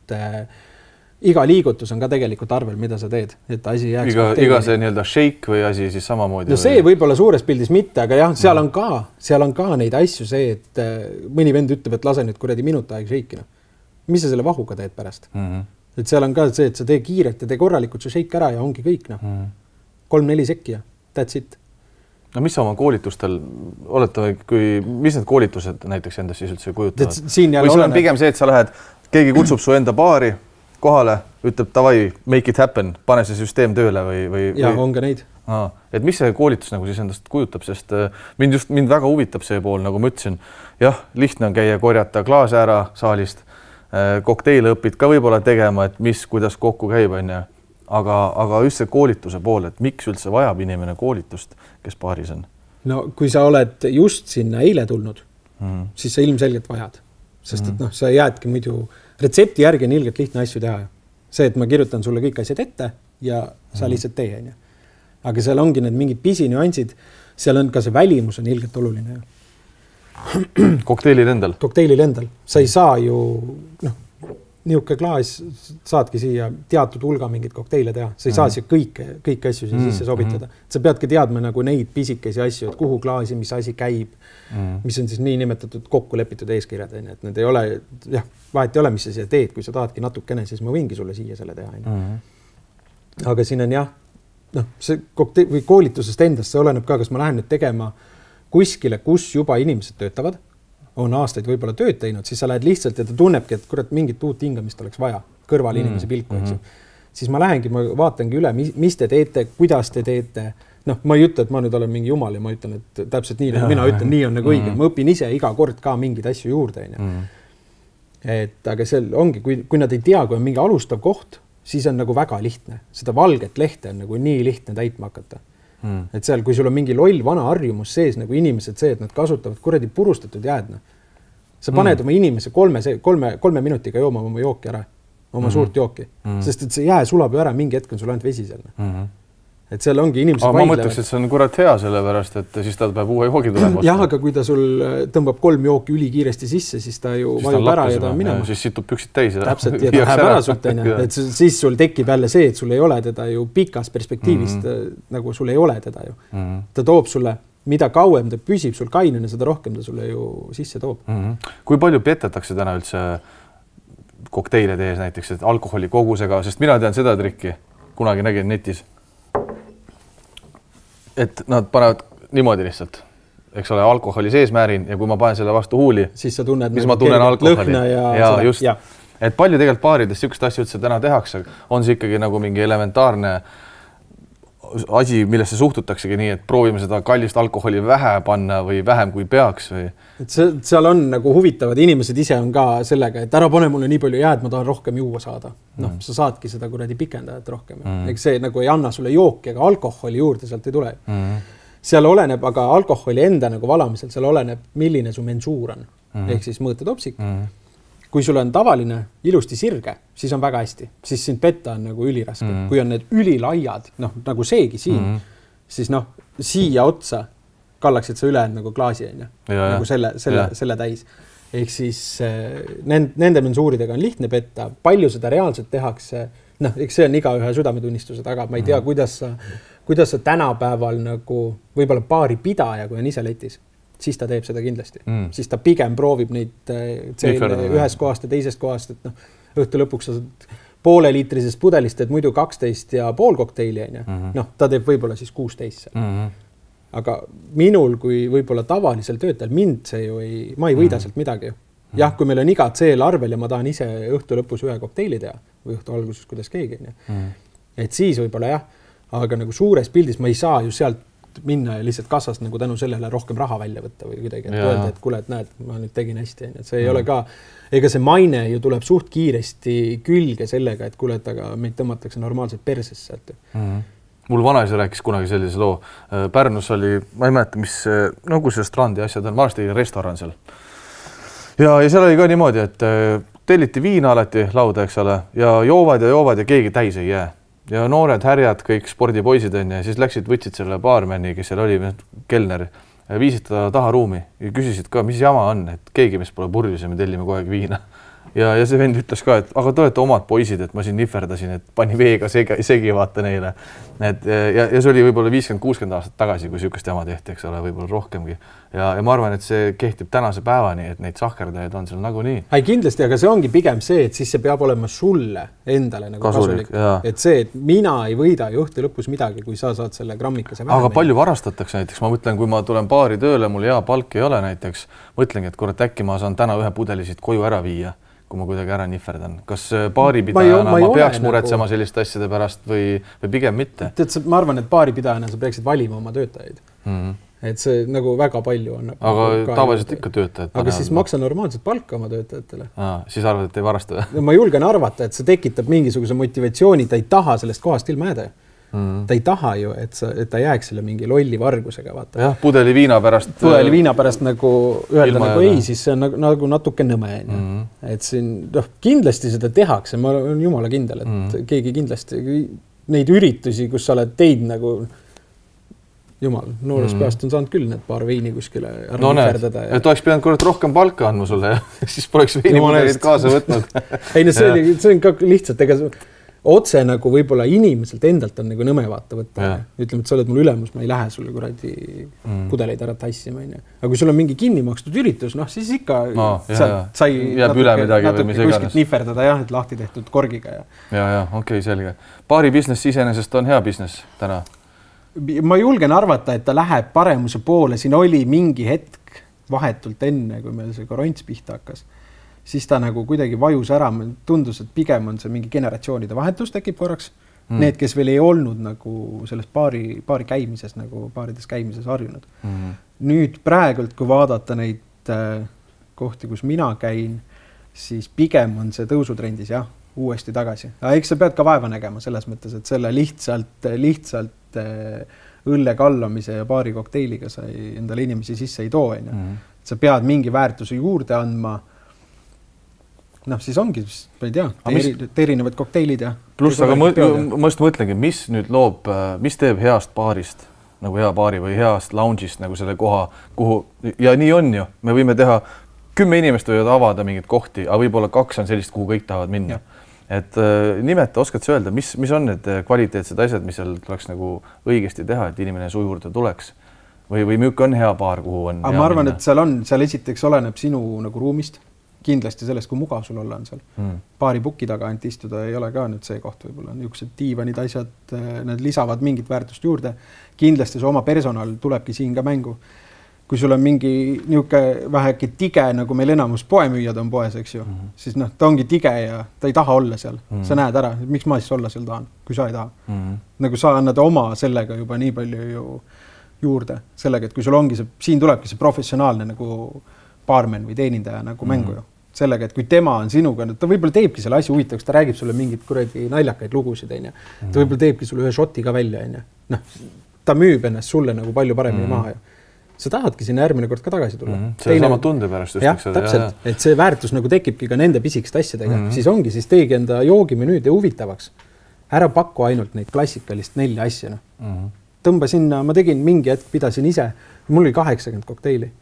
Speaker 2: iga liigutus on ka tegelikult arvel, mida sa teed, et asi jääks
Speaker 1: iga see nii-öelda shake või asi siis samamoodi.
Speaker 2: No see võib-olla suures pildis mitte, aga jah, seal on ka neid asju see, et mõni vend ütleb, et lase nüüd kuradi minut aeg shake'ina. Mis sa selle vahuga teed pärast? Et seal on ka see, et sa tee kiiret ja tee korralikult see shake ära ja ongi kõik. 3-4 sekki ja that's it.
Speaker 1: No mis sa oma koolitustel oletame, mis need koolitused näiteks endast siis üldse kujutavad? Või sul on pigem see, et sa lähed, keegi kutsub su enda baari kohale, ütleb davai, make it happen, pane see süsteem tööle või...
Speaker 2: Ja, on ka neid.
Speaker 1: Et mis see koolitus nagu siis endast kujutab, sest mind väga huvitab see pool, nagu ma ütlesin, jah, lihtne on käia korjata klaase ära saalist, kokteile õpid ka võib-olla tegema, et kuidas kokku käib, aga just see koolituse pool, et miks üldse vajab inimene koolitust, kes baaris on?
Speaker 2: No kui sa oled just sinna eile tulnud, siis sa ilmselgelt vajad, sest et sa jäädki muidu retsepti järgi on ilgelt lihtne asju teha. See, et ma kirjutan sulle kõik asjad ette ja sa lihtsalt tee. Aga seal ongi need mingid pisinüansid, seal on ka see välimus on ilgelt oluline.
Speaker 1: Kokteilil endal?
Speaker 2: Kokteilil endal. Sa ei saa ju, niuke klaas saadki siia teatud hulga mingid kokteile teha. Sa ei saa siia kõik asju sisse sobitada. Sa peadki teadma nagu neid pisikesi asju, et kuhu klaasi, mis asi käib, mis on siis nii nimetatud kokku lepitud eeskirjad. Et need ei ole, vahet ei ole, mis sa siia teed, kui sa tahadki natukene, siis ma võingi sulle siia selle teha. Aga siin on see või koolitusest endast, see oleneb ka, kas ma lähen nüüd tegema kuskile, kus juba inimesed töötavad, on aastaid võib-olla tööd teinud, siis sa lähed lihtsalt ja ta tunnebki, et kurat mingit uut hingamist oleks vaja kõrval inimese pilku, siis ma lähengi, ma vaatangi üle, mis te teete, kuidas te teete. Ma ei ütle, et ma nüüd olen mingi jumal ja ma ütlen, et täpselt nii, mina ütlen, nii on nagu õige. Ma õpin ise iga kord ka mingid asju juurde. Aga seal ongi, kui nad ei tea, kui on mingi alustav koht, siis on nagu väga lihtne. Seda valget lehte on nagu nii lihtne täitma hakata. Et seal, kui sul on mingi loll vana harjumus sees, nagu inimesed see, et nad kasutavad kuradi purustatud jäädna. Sa paned oma inimese 3 minutiga jooma oma jooki ära, oma suurt jooki, sest et see jää sulab ju ära, mingi hetk on sul ainult vesi seal. Et seal ongi inimesed
Speaker 1: vaidlevad. Ma mõtleks, et see on kurat hea sellepärast, et siis ta peab uue joogi tulema.
Speaker 2: Jah, aga kui ta sul tõmbab 3 jooki üli kiiresti sisse, siis ta ju vajub ära ja ta on minema.
Speaker 1: Siis situb püksid täis.
Speaker 2: Täpselt, ja ta läheb ära sult, et siis sul tekib jälle see, et sul ei ole teda ju pikas perspektiivist, nagu sul ei ole teda ju. Ta toob sulle, mida kauem ta püsib sul kainena, seda rohkem ta sulle ju sisse toob.
Speaker 1: Kui palju petetakse täna üldse kokteile tees näiteks, et alkoholi kogusega, sest mina tean seda trikki, kunagi nägin netis. Et nad panevad niimoodi lihtsalt, eks ole, alkoholi sees määrin ja kui ma panen selle vastu huuli,
Speaker 2: siis sa tunned,
Speaker 1: mis ma tunnen alkoholi.
Speaker 2: Ja
Speaker 1: just. Et palju tegelikult baarides sükest asju üldse täna tehakse, on see ikkagi nagu mingi elementaarne asi, millesse suhtutaksegi nii, et proovime seda kallist alkoholi vähe panna või vähem kui peaks või?
Speaker 2: Et seal on nagu huvitavad inimesed ise on ka sellega, et ära pane mulle nii palju jääd, ma tahan rohkem juua saada. Noh, sa saadki seda kuradi pikendajat rohkem. Eks see nagu ei anna sulle jooki, aga alkoholi juurde sealt ei tule. Seal oleneb, aga alkoholi enda nagu valamisel, seal oleneb, milline su mensuur on. Ehk siis mõõtetopsik. Kui sul on tavaline ilusti sirge, siis on väga hästi. Siis sind petta on nagu üliraske. Kui on need ülilaiad, noh, nagu seegi siin, siis noh, siia otsa kallaksid sa üle nagu klaasi on nagu selle täis. Ehk siis nende mensuuridega on lihtne petta. Palju seda reaalselt tehakse, noh, eks see on iga ühe südametunnistuse taga. Ma ei tea, kuidas sa tänapäeval nagu võib-olla paari pidaja, kui on ise letis, siis ta teeb seda kindlasti. Siis ta pigem proovib neid ühest kohast ja teisest kohast, et noh, õhtu lõpuks sa pooleliitrisest pudelist, et muidu 12,5 kokteili on noh, ta teeb võib-olla siis 16. Aga minul, kui võib-olla tavalisel töötajal, mind see ju ma ei võida sealt midagi. Jah, kui meil on iga CL arvel ja ma tahan ise õhtu lõpus ühe kokteili teha või õhtu alguses, kuidas keegi on. Et siis võib-olla jah, aga nagu suures pildis ma ei saa ju sealt minna ja lihtsalt kassast nagu tänu sellele rohkem raha välja võtta või kuidagi, et öelda, et kuule, et näed, ma nüüd tegin hästi. Et see ei ole ka, ega see maine ju tuleb suht kiiresti külge sellega, et kuule, et aga meid tõmmatakse normaalselt persesse sealt.
Speaker 1: Mul vanaisa rääkis kunagi sellise loo. Pärnus oli, ma ei mäleta, mis, nagu see strandi asjad on, varsti restoran seal. Ja seal oli ka niimoodi, et telliti viina alati lauda, eks ole, ja joovad ja keegi täis ei jää. Ja noored härjad, kõik spordipoisid on ja siis läksid, võtsid selle baarmeni, kes seal oli, kelner, viisid ta taha ruumi ja küsisid ka, mis jama on, et keegi meist pole purjus ja me tellime kogu aeg viina. Ja see vend ütles ka, et aga te olete omad poisid, et ma siin nihverdasin, et pani veega segi vaata neile. Ja see oli võib-olla 50-60 aastat tagasi, kui sihukest jama tehti, eks ole, võib-olla rohkemgi. Ja ma arvan, et see kehtib tänase päevani, et neid sahkerdajaid on seal nagu nii.
Speaker 2: Ei, kindlasti, aga see ongi pigem see, et siis see peab olema sulle endale nagu kasulik. Et see, et mina ei võida ju õhtu lõpus midagi, kui sa saad selle grammikese vähem.
Speaker 1: Aga palju varastatakse näiteks? Ma mõtlen, kui ma tulen baari tööle, mul hea palk ei ole näiteks, mõtlengi, et kurat, äkki ma saan täna ühe pudelisid koju ära viia, kui ma kuidagi ära nihverdan. Kas baaripidajana ma peaks muretsema selliste asjade pärast või pigem mitte?
Speaker 2: Ma arvan, et baaripidajana sa peaksid valima oma töötajaid. Et see nagu väga palju on.
Speaker 1: Aga tavaliselt ikka töötajad.
Speaker 2: Aga siis maksa normaalselt palka oma töötajatele.
Speaker 1: Siis arvad, et ei varasta?
Speaker 2: Ma julgen arvata, et see tekitab mingisuguse motivatsiooni, ta ei taha sellest kohast ilma jääda. Ta ei taha ju, et ta jääks selle mingi lolli vargusega, vaata.
Speaker 1: Jah, pudeli viina pärast
Speaker 2: nagu öelda nagu ei, siis see on nagu natuke nõme. Et siin kindlasti seda tehakse, ma olen jumala kindel, et keegi kindlasti neid üritusi, kus sa oled teid nagu jumal, noores peast on saanud küll need paar veini kuskile ära nihverdada.
Speaker 1: Et oleks pidanud kurat rohkem palka andma sulle, siis poleks veinipudelid kaasa võtnud.
Speaker 2: Ei, see on ka lihtsalt, ega otse nagu võib-olla inimeselt endalt on nagu nõme vaata võtta. Ütleme, et sa oled mul ülemus, ma ei lähe sulle kuradi pudeleid ära tassima. Aga kui sul on mingi kinni makstud üritus, noh, siis ikka sai natuke kuskilt nihverdada, jah, et lahti tehtud korgiga.
Speaker 1: Okei, selge. Baari business iseenesest on hea business täna?
Speaker 2: Ma julgen arvata, et ta läheb paremuse poole. Siin oli mingi hetk vahetult enne, kui meil see koronts pihta hakkas. Siis ta nagu kuidagi vajus ära, tundus, et pigem on see mingi generatsioonide vahetus tekib korraks. Need, kes veel ei olnud nagu selles baari käimises, nagu baarides käimises harjunud. Nüüd praegult, kui vaadata neid kohti, kus mina käin, siis pigem on see tõusutrendis, jah, uuesti tagasi. Eks sa pead ka vaeva nägema selles mõttes, et selle lihtsalt õlle kallamise ja baari kokteiliga sa endale inimesi sisse ei too. Sa pead mingi väärtuse juurde andma. Noh, siis ongi, ma ei tea, erinevad kokteilid ja...
Speaker 1: Pluss, aga ma just mõtlengi, mis nüüd loob, mis teeb heast baarist, nagu hea baari või heast lounge'ist nagu selle koha, kuhu, ja nii on ju, me võime teha 10 inimest võivad avada mingid kohti, aga võib-olla 2 on sellist, kuhu kõik tahavad minna. Et nimeta, oskad sa öelda, mis on need kvaliteetsed asjad, mis seal tuleks nagu õigesti teha, et inimene su juurde tuleks? Või müük on hea baar, kuhu on?
Speaker 2: Aga ma arvan, et seal esiteks oleneb sinu nagu ruumist. Kindlasti sellest, kui mugav sul olla on seal. Baari puki taga ainult istuda ei ole ka nüüd see koht võib-olla. Niisugused diivanid asjad, need lisavad mingit väärtust juurde. Kindlasti see oma personal tulebki siin ka mängu. kui sul on mingi niisugune väheke tige, nagu meil enamus poemüüjad on poes, eks ju, siis noh, ta ongi tige ja ta ei taha olla seal. Sa näed ära, miks ma siis olla seal tahan, kui sa ei taha. Nagu sa annad oma sellega juba nii palju ju juurde sellega, et kui sul ongi see, siin tulebki see professionaalne nagu baarmen või teenindaja nagu mängu ju. Sellega, et kui tema on sinuga, ta võib-olla teebki selle asja huvitavaks, ta räägib sulle mingit kuradi naljakaid lugusid, ta võib-olla teebki sulle ühe šoti ka välja, noh, ta müüb ennast sulle nagu palju paremini maha ju. Sa tahadki sinna järgmine kord ka tagasi tulla.
Speaker 1: See sama tunde pärast.
Speaker 2: Jah, täpselt, et see väärtus nagu tekibki ka nende pisikest asjadega, siis ongi, siis teegi enda joogimenüüd ja huvitavaks. Ära paku ainult neid klassikalist 4 asja. Tõmba sinna, ma tegin mingi hetk, pidasin ise, mul oli 80 kokteili.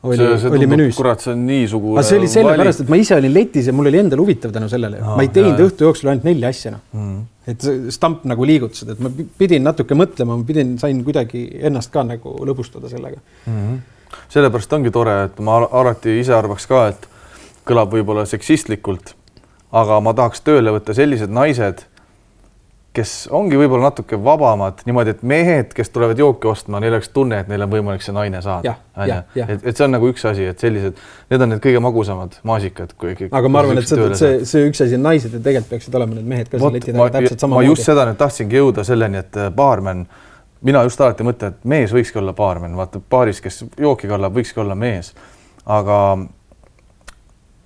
Speaker 2: Oli menüüs.
Speaker 1: Kurat, see on nii sugu
Speaker 2: see oli sellepärast, et ma ise olin letis ja mul oli endal huvitav tänu sellele. Ma ei teinud õhtu jooksul ainult 4 asja. Et stamp nagu liigutused, et ma pidin natuke mõtlema, sain kuidagi ennast ka nagu lõbustada sellega.
Speaker 1: Sellepärast ongi tore, et ma alati ise arvaks ka, et kõlab võib-olla seksistlikult, aga ma tahaks tööle võtta sellised naised, kes ongi võib-olla natuke vabamad, niimoodi, et mehed, kes tulevad jooki ostma, neil oleks tunne, et neil on võimalik see naine saada. Et see on nagu üks asi, et sellised, need on need kõige magusamad maasikad.
Speaker 2: Aga ma arvan, et see üks asi on naised ja tegelikult peaksid olema need mehed ka siin leti taga täpselt sama
Speaker 1: moodi. Ma just seda nüüd tahtsingi jõuda selleni, et baarmen, mina just alati mõtlen, et mees võikski olla baarmen, vaata baaris, kes jooki kallab, võikski olla mees. Aga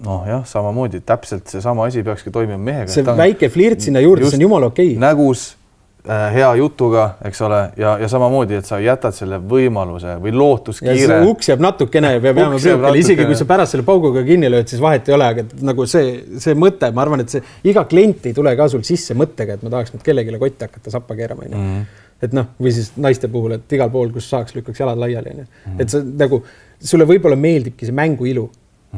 Speaker 1: noh jah, samamoodi, täpselt see sama asi peakski toimima mehega.
Speaker 2: See väike flirt sinna juurde, see on jumala okei.
Speaker 1: Nägus, hea jutuga, eks ole, ja samamoodi, et sa jätad selle võimaluse või lootuskiire.
Speaker 2: Ja see uks jääb natukene ja peab jääma priukele, isegi kui sa pärast selle pauguga kinni lööd, siis vahet ei ole, aga nagu see mõte, ma arvan, et see iga klient ei tule ka sul sisse mõttega, et ma tahaks nüüd kellegile kotti hakata sappa keerama. Et noh, või siis naiste puhul, et igal pool, kus saaks, lükkaks jalad laiali. Et see nagu, sulle võib-olla meeldibki see mängu ilu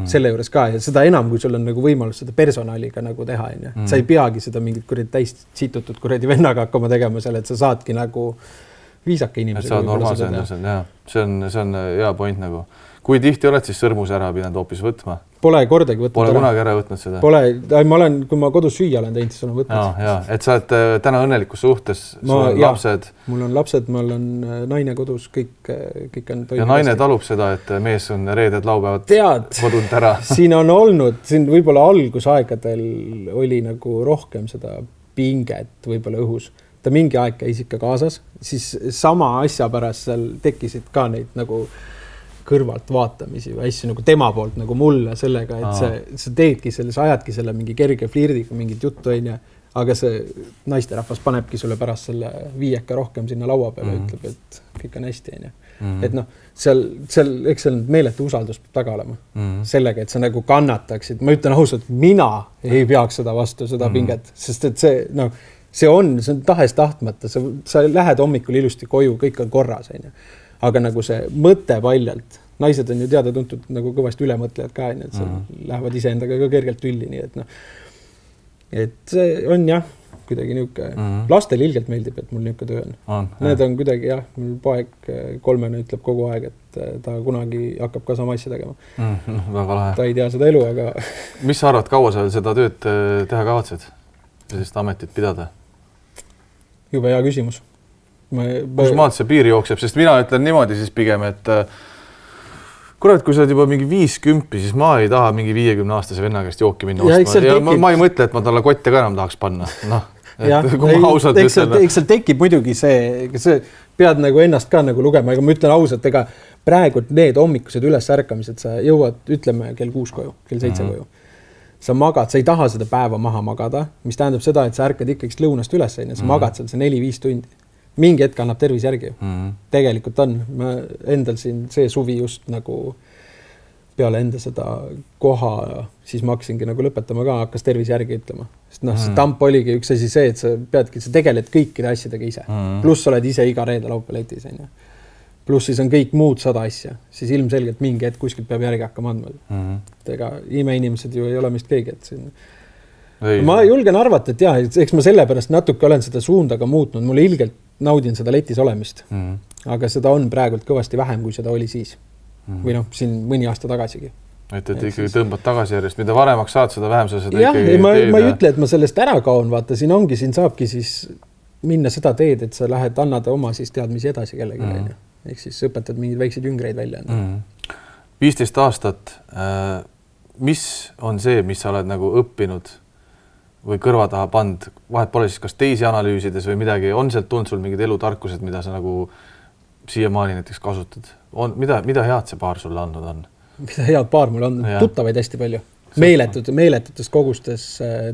Speaker 2: selle juures ka ja seda enam, kui sul on nagu võimalus seda personaaliga nagu teha. Sa ei peagi seda mingit täis situtud kuradi vennaga hakkama tegema seal, et sa saadki nagu viisaka inimesega.
Speaker 1: Et saad normaalse endasel, jah. See on hea point nagu. Kui tihti oled siis sõrmuse ära pidanud hoopis võtma?
Speaker 2: Pole kordagi võtnud.
Speaker 1: Pole kunagi ära võtnud seda?
Speaker 2: Pole, kui ma kodus süüa olen teinud, siis olen võtnud.
Speaker 1: Jaa, et sa oled täna õnnelikus suhtes, sul on lapsed.
Speaker 2: Mul on lapsed, mul on naine kodus, kõik on toimub.
Speaker 1: Ja naine talub seda, et mees on reeded laupäevad kodunt ära.
Speaker 2: Siin on olnud, siin võib-olla algusaegadel oli nagu rohkem seda pinget võib-olla õhus. Ta mingi aeg käis ikka kaasas, siis sama asja pärast seal tekkisid ka neid nagu kõrvalt vaatamisi või asju nagu tema poolt nagu mulle sellega, et sa teedki selle, sa ajadki selle mingi kerge flirdiga mingit juttu, aga see naisterahvas panebki sulle pärast selle viieka rohkem sinna laua peale, ütleb, et kõik on hästi. Et noh, seal eks seal meeletu usaldus peab taga olema sellega, et sa nagu kannataksid. Ma ütlen ausalt, mina ei peaks seda vastu, seda pinget, sest et see on tahes tahtmata, sa lähed hommikul ilusti koju, kõik on korras, aga nagu see mõte paljalt, naised on ju teada-tuntud nagu kõvasti ülemõtlejad ka, et sa lähevad ise endaga ka kergelt tülli, nii et see on jah, kuidagi niisugune, lastel ilgelt meeldib, et mul niisugune töö on. Need on kuidagi jah, mul poeg 3 ütleb kogu aeg, et ta kunagi hakkab ka sama asja tegema.
Speaker 1: Väga lahe.
Speaker 2: Ta ei tea seda elu, aga...
Speaker 1: Mis sa arvad, kaua sa seda tööd teha kavatsed? Sellist ametit pidada?
Speaker 2: Jube hea küsimus.
Speaker 1: Kus maalt see piir jookseb, sest mina ütlen niimoodi siis pigem, et kurat, kui sa oled juba mingi 50, siis ma ei taha mingi 50-aastase venna käest jooki minna ostma. Ja ma ei mõtle, et ma talle kotte ka enam tahaks panna.
Speaker 2: Eks seal tekib muidugi see pead nagu ennast ka nagu lugema, aga ma ütlen ausalt, ega praegu need hommikused üles ärkamised, sa jõuad, ütleme, kell 6 koju, kell 7 koju. Sa magad, sa ei taha seda päeva maha magada, mis tähendab seda, et sa ärkad ikkagi lõunast üles, sa magad seal see 4-5 tundi. Mingi hetk annab tervis järgi. Tegelikult on. Ma endal siin see suvi just nagu peale enda seda koha, siis ma hakkasingi nagu lõpetama ka, hakkas tervis järgi ütlema. Sest see tamp oligi üks asi see, et sa peadki, sa tegeled kõikide asjadega ise. Pluss oled ise iga reede laupäletis. Pluss siis on kõik muud 100 asja. Siis ilmselgelt mingi hetk kuskilt peab järgi hakkama andma. Ega imeinimesed ju ei ole mist keegi, et siin... Ma julgen arvata, et jah, eks ma sellepärast natuke olen seda suunda ka muutnud. Mulle ilgelt naudin seda letis olemist. Aga seda on praegult kõvasti vähem, kui seda oli siis. Või noh, siin mõni aasta tagasigi.
Speaker 1: Et ikkagi tõmbad tagasi järjest. Mida varemaks saad, seda vähem sa seda
Speaker 2: ikkagi teed. Ma ei ütle, et ma sellest ära kaon, vaata. Siin saabki siis minna seda teed, et sa lähed annada oma siis teadmisi edasi kellegile. ehk siis õpetad mingeid väikseid jüngreid välja.
Speaker 1: 15 aastat, mis on see, mis sa oled nagu õppinud või kõrva taha pand, vahet pole siis kas teisi analüüsides või midagi, on sealt tulnud sul mingid elutarkused, mida sa nagu siiamaani näiteks kasutad? Mida head see paar sulle andnud on?
Speaker 2: Mida head paar mul on? Tuttavaid hästi palju. Meeletutes kogustes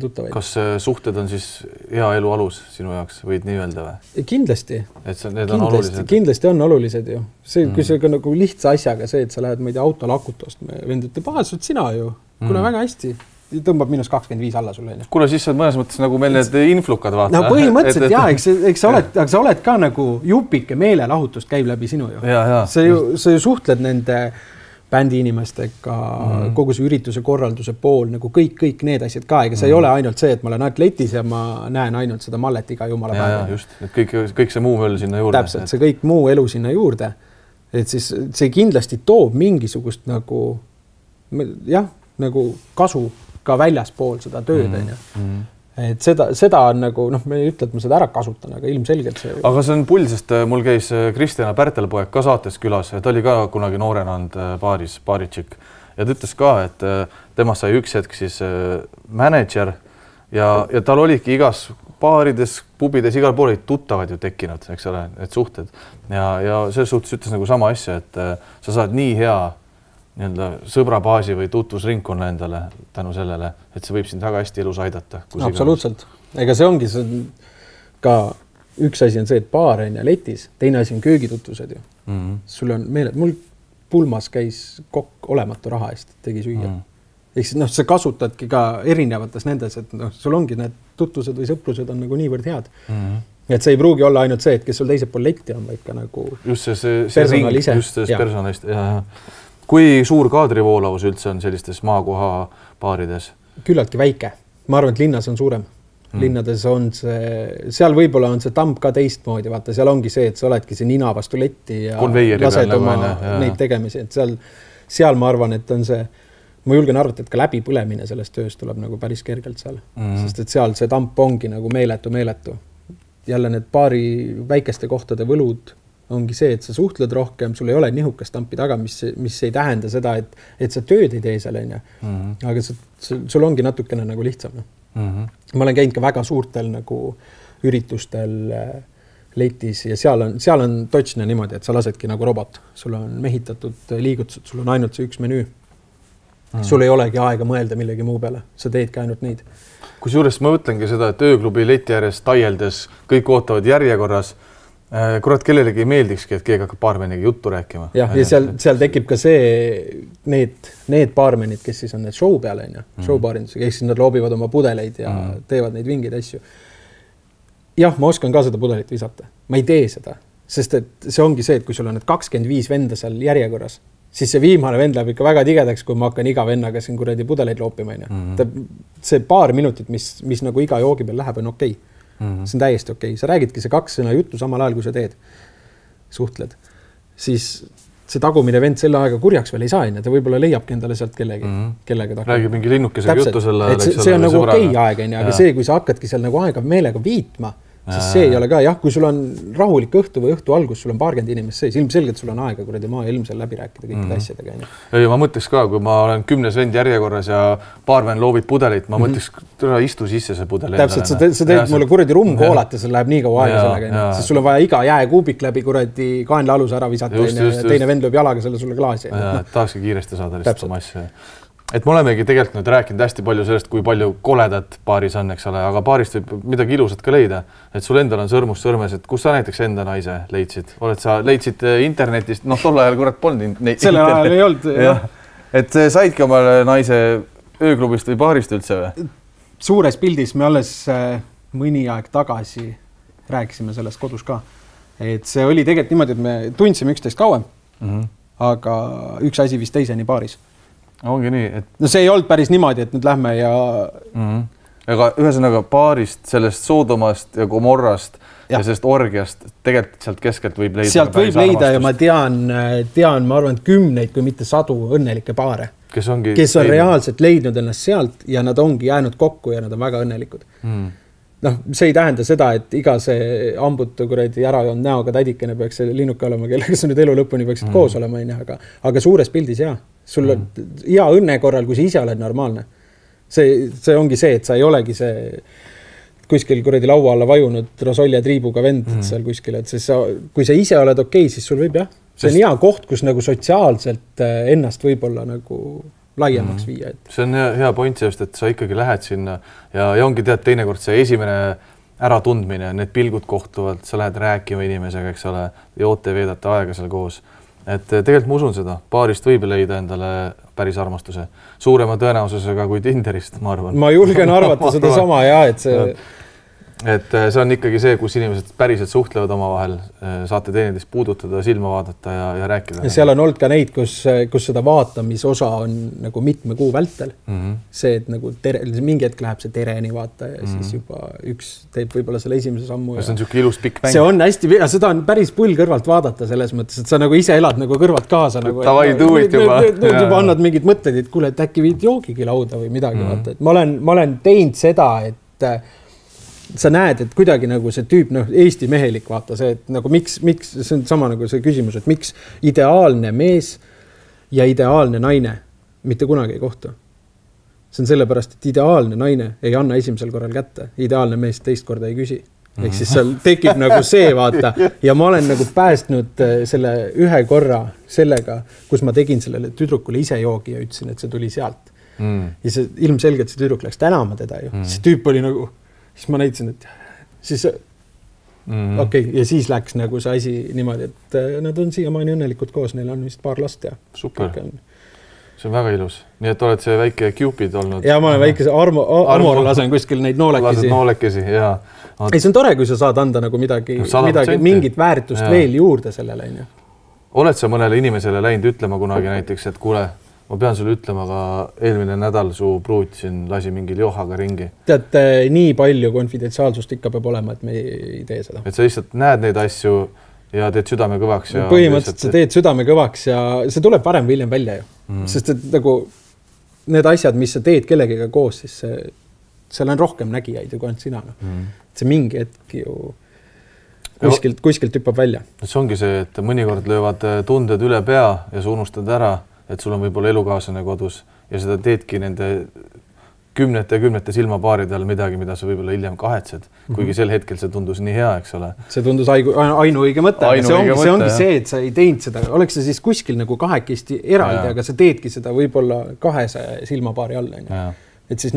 Speaker 2: tuttavaid.
Speaker 1: Kas suhted on siis hea elu alus sinu jaoks, võid nii öelda või?
Speaker 2: Kindlasti.
Speaker 1: Et need on olulised?
Speaker 2: Kindlasti on olulised ju. See, kui see nagu lihtsa asjaga see, et sa lähed meid autol akutost, vend ütleb, sul sina ju, kuna väga hästi. Tõmbab -25 alla sulle.
Speaker 1: Kuule, siis sa mõnes mõttes nagu meil need influkad vaata.
Speaker 2: No põhimõtteliselt jah, eks sa oled ka nagu jupike meelelahutust käib läbi sinu ju. Sa ju suhtled nende bändi inimestega, kogu see ürituse korralduse pool, nagu kõik need asjad ka, ega see ei ole ainult see, et ma olen ainult letis ja ma näen ainult seda mallet iga jumala päeva.
Speaker 1: Ja, just, et kõik see muu möll sinna juurde.
Speaker 2: Täpselt, see kõik muu elu sinna juurde. Et siis see kindlasti toob mingisugust nagu, jah, nagu kasu ka väljaspool seda tööd. Et seda on nagu, me ei ütle, et ma seda ära kasutan, aga ilmselgelt see...
Speaker 1: Aga see on pull, sest mul käis Kristjana Pärtelpoeg ka saates külas, ta oli ka kunagi noorena olnud baaritšik ja ta ütles ka, et temast sai üks hetk siis manager ja tal oligi igas baarides, pubides, igal pool olid tuttavad ju tekkinud, eks ole, et suhted ja selles suhtes ütles nagu sama asja, et sa saad nii hea sõbrabaasi või tutvusringkonna endale tänu sellele, et see võib sind väga hästi elus aidata.
Speaker 2: Absoluutselt. Ega see ongi ka üks asi on see, et baar on ja letis, teine asi on köögitutvused ju. Sul on meeled, mul pulmas käis kokk olematu raha eest, tegi süüa. Ehk siis sa kasutadki ka erinevates nendes, et sul ongi need tutvused või sõprused on nagu niivõrd head. Et see ei pruugi olla ainult see, et kes sul teisel pool letti on, vaid ka nagu
Speaker 1: just see ring, just see personalist. Kui suur kaadrivoolavus üldse on sellistes maakoha baarides?
Speaker 2: Küllaltki väike. Ma arvan, et linnas on suurem. Linnades on see, seal võib-olla on see tamp ka teistmoodi, vaata, seal ongi see, et sa oledki see nina vastu letti ja lased oma neid tegemisi. Et seal ma arvan, et on see, ma julgen arvata, et ka läbipõlemine sellest tööst tuleb nagu päris kergelt seal. Sest et seal see tamp ongi nagu meeletu. Jälle need baari väikeste kohtade võlud ongi see, et sa suhtled rohkem, sul ei ole nihukast tampi taga, mis ei tähenda seda, et sa tööd ei tee seal, aga sul ongi natukene nagu lihtsam. Ma olen käinud ka väga suurtel nagu üritustel letis ja seal on točne niimoodi, et sa lasedki nagu robot. Sul on mehitatud liigutused, sul on ainult see üks menüü. Sul ei olegi aega mõelda millegi muu peale, sa teedki ainult neid.
Speaker 1: Kusjuures ma mõtlengi seda, et ööklubi leti ääres taieldes kõik ootavad järjekorras. Kurat, kellelegi ei meeldikski, et keegi hakkab baarmeniga juttu rääkima.
Speaker 2: Ja seal tekib ka see, need baarmenid, kes siis on need show peale, showbaarindusega, ehk siis nad loobivad oma pudeleid ja teevad neid vingeid asju. Jah, ma oskan ka seda pudelit visata. Ma ei tee seda, sest et see ongi see, et kui sul on need 25 venda seal järjekorras, siis see viimane vend läheb ikka väga tigedaks, kui ma hakkan iga vennaga siin kuradi pudeleid loopima. See paar minutit, mis nagu iga joogi peal läheb, on okei. See on täiesti okei. Sa räägidki see 2 sõna juttu samal ajal, kui sa teed, suhtled. Siis see tagumine vend selle aega kurjaks veel ei saa, ta võib-olla leiabki endale sealt kellega ta
Speaker 1: räägib mingi linnukesega juttu selle
Speaker 2: ajal. See on nagu okei aeg, aga see, kui sa hakkadki seal nagu aega meelega viitma, siis see ei ole ka, jah, kui sul on rahulik õhtu või õhtu algus, sul on paarkümmend inimest sees, ilmselgelt sul on aega kuradi maa ilmsel läbi rääkida kõikide asjadega.
Speaker 1: Ja ma mõtleks ka, kui ma olen 10 vend järjekorras ja baarmen loobib pudelit, ma mõtleks, istu sisse see pudel.
Speaker 2: Täpselt, sa teed mulle kuradi rummkoolat ja see läheb nii kaua aega sellega, siis sul on vaja iga jääkuubik läbi kuradi kaenla aluse ära visata ja teine vend lööb jalaga selle sulle klaasi.
Speaker 1: Tahakski kiiresti saada lihtsalt oma asja. Et me olemegi tegelikult nüüd rääkinud hästi palju sellest, kui palju koledat baaris on, eks ole, aga baarist võib midagi ilusat ka leida. Et sul endal on sõrmus sõrmes, et kus sa näiteks enda naise leidsid? Leidsid internetist, tol ajal kurat polnud
Speaker 2: selle ajal ei olnud, jah.
Speaker 1: Et saidki omale naise ööklubist või baarist üldse või?
Speaker 2: Suures pildis me alles mõni aeg tagasi rääkisime sellest kodus ka. Et see oli tegelikult niimoodi, et me tundsime üksteist kauem, aga üks asi vist teiseni baaris.
Speaker 1: Ongi nii, et...
Speaker 2: No see ei olnud päris niimoodi, et nüüd lähme ja...
Speaker 1: Aga ühesõnaga baarist, sellest Soodomast ja Gomorrast ja sellest orgiast tegelikult sealt keskelt võib leida...
Speaker 2: Sealt võib leida ja ma tean, ma arvan, 10, kui mitte 100 õnnelikke baare, kes on reaalselt leidnud ennast sealt ja nad ongi jäänud kokku ja nad on väga õnnelikud. noh, see ei tähenda seda, et iga see ambutu kuradi ära joonud näoga tädikene peaks see linnuke olema, kellega sa nüüd elu lõpuni peaksid koos olema, aga suures pildis jaa. Sul on hea õnne korral, kui sa ise oled normaalne. See ongi see, et sa ei olegi see kuskil kuradi laua alla vajunud rosolja triibuga vend seal kuskil, et siis kui sa ise oled okei, siis sul võib jah. See on hea koht, kus nagu sotsiaalselt ennast võib-olla nagu laiemaks viia.
Speaker 1: See on hea point just, et sa ikkagi lähed sinna ja ongi tead teinekord see esimene äratundmine, need pilgud kohtuvad, sa lähed rääkima inimesega, eks ole, joote veedate aega seal koos. Et tegelikult ma usun seda, paarist võib leida endale päris armastuse. Suurema tõenäosusega kui Tinderist, ma arvan.
Speaker 2: Ma julgen arvata seda sama ja,
Speaker 1: et see on ikkagi see, kus inimesed päriselt suhtlevad omavahel, saate teineteist puudutada, silma vaadata ja rääkida. Ja
Speaker 2: seal on olnud ka neid, kus seda vaatamisosa on nagu mitme kuu vältel. See, et nagu mingi hetk läheb see tereni vaata ja siis juba üks teeb võib-olla selle esimese sammu.
Speaker 1: Ja see on siuke ilus pikk mäng.
Speaker 2: See on hästi, seda on päris pull kõrvalt vaadata selles mõttes, et sa nagu ise elad nagu kõrvalt kaasa.
Speaker 1: Tavai tuuid juba.
Speaker 2: Juba annad mingid mõtted, et kuule, et äkki viid joogigi lauda või midagi vaata. Et ma olen teinud seda, et sa näed, et kuidagi nagu see tüüp, Eesti mehelik vaata see, et nagu miks, see on sama nagu see küsimus, et miks ideaalne mees ja ideaalne naine mitte kunagi ei kohtu. See on sellepärast, et ideaalne naine ei anna esimesel korral kätte, ideaalne mees teist korda ei küsi. Ehk siis seal tekib nagu see vaata ja ma olen nagu päästnud selle ühe korra sellega, kus ma tegin sellele tüdrukule ise joogi ja ütlesin, et see tuli sealt. Ja see ilmselgelt see tüdruk läks tänama teda ju. See tüüp oli nagu siis ma näitasin, et siis okei, ja siis läks nagu see asi niimoodi, et nad on siiamaani õnnelikud koos, neil on vist paar last ja
Speaker 1: super. See on väga ilus. Nii et oled see väike Cupid olnud.
Speaker 2: Ja ma olen väike Amor lasen kuskil neid noolekesi.
Speaker 1: Lased noolekesi, jaa.
Speaker 2: Ei, see on tore, kui sa saad anda nagu midagi mingit väärtust veel juurde sellele.
Speaker 1: Oled sa mõnele inimesele läinud ütlema kunagi näiteks, et kuule, ma pean sulle ütlema, aga eelmine nädal su pruut siin lasi mingil johaga ringi.
Speaker 2: Tead, nii palju konfidentsiaalsust ikka peab olema, et me ei tee seda.
Speaker 1: Et sa lihtsalt näed neid asju ja teed südame kõvaks. Ja
Speaker 2: põhimõtteliselt sa teed südame kõvaks ja see tuleb varem või hiljem välja ju. Sest et nagu need asjad, mis sa teed kellegiga koos, siis seal on rohkem nägijaid ju kui ainult sina. See mingi hetk ju kuskilt hüppab välja.
Speaker 1: See ongi see, et mõnikord löövad tunded üle pea ja sa unustad ära, et sul on võib-olla elukaaslane kodus ja seda teedki nende kümnete silmapaaridel midagi, mida sa võib-olla hiljem kahetsed, kuigi sel hetkel see tundus nii hea, eks ole.
Speaker 2: See tundus ainuõige mõte. See ongi see, et sa ei teinud seda. Oleks see siis kuskil nagu kahekesti eraldi, aga sa teedki seda võib-olla 200 silmapaari all. Et siis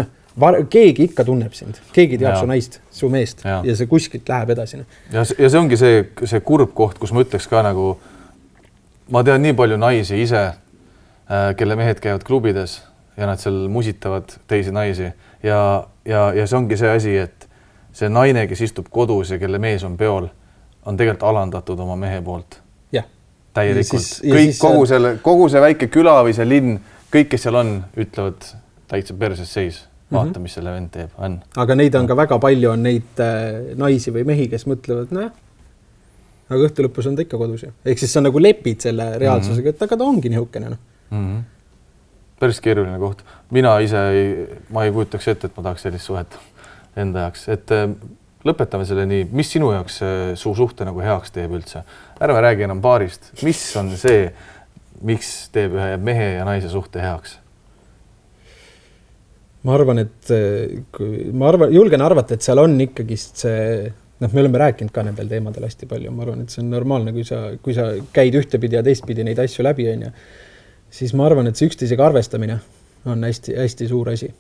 Speaker 2: keegi ikka tunneb sind. Keegi teab su naist, su meest ja see kuskilt läheb edasi.
Speaker 1: Ja see ongi see kurb koht, kus ma ütleks ka nagu, ma tean nii palju naisi ise, kelle mehed käivad klubides ja nad seal musitavad teisi naisi ja see ongi see asi, et see naine, kes istub kodus ja kelle mees on peol, on tegelikult alandatud oma mehe poolt.
Speaker 2: Ja.
Speaker 1: Täielikult. Kogu see väike küla või see linn, kõik, kes seal on, ütlevad täitsa perses seis. Vaata, mis selle vend teeb.
Speaker 2: Aga neid on ka väga palju, on neid naisi või mehi, kes mõtlevad, aga õhtu lõpus on ta ikka kodus. Ehk siis sa nagu lepid selle reaalsusega, et aga ta ongi nihukene.
Speaker 1: Päris keeruline koht. Mina ise ma ei kujutaks ette, et ma tahaks sellist suhet enda jaoks. Et lõpetame selle nii, mis sinu jaoks su suhte nagu heaks teeb üldse? Ärme räägi enam paarist. Mis on see, miks teeb ühe mehe ja naise suhte heaks?
Speaker 2: Ma arvan, julgen arvata, et seal on ikkagi see, me oleme rääkinud ka nendel teemadel hästi palju. Ma arvan, et see on normaalne, kui sa käid ühtepidi ja teistpidi neid asju läbi, siis ma arvan, et see üksteisega arvestamine on hästi suur asi.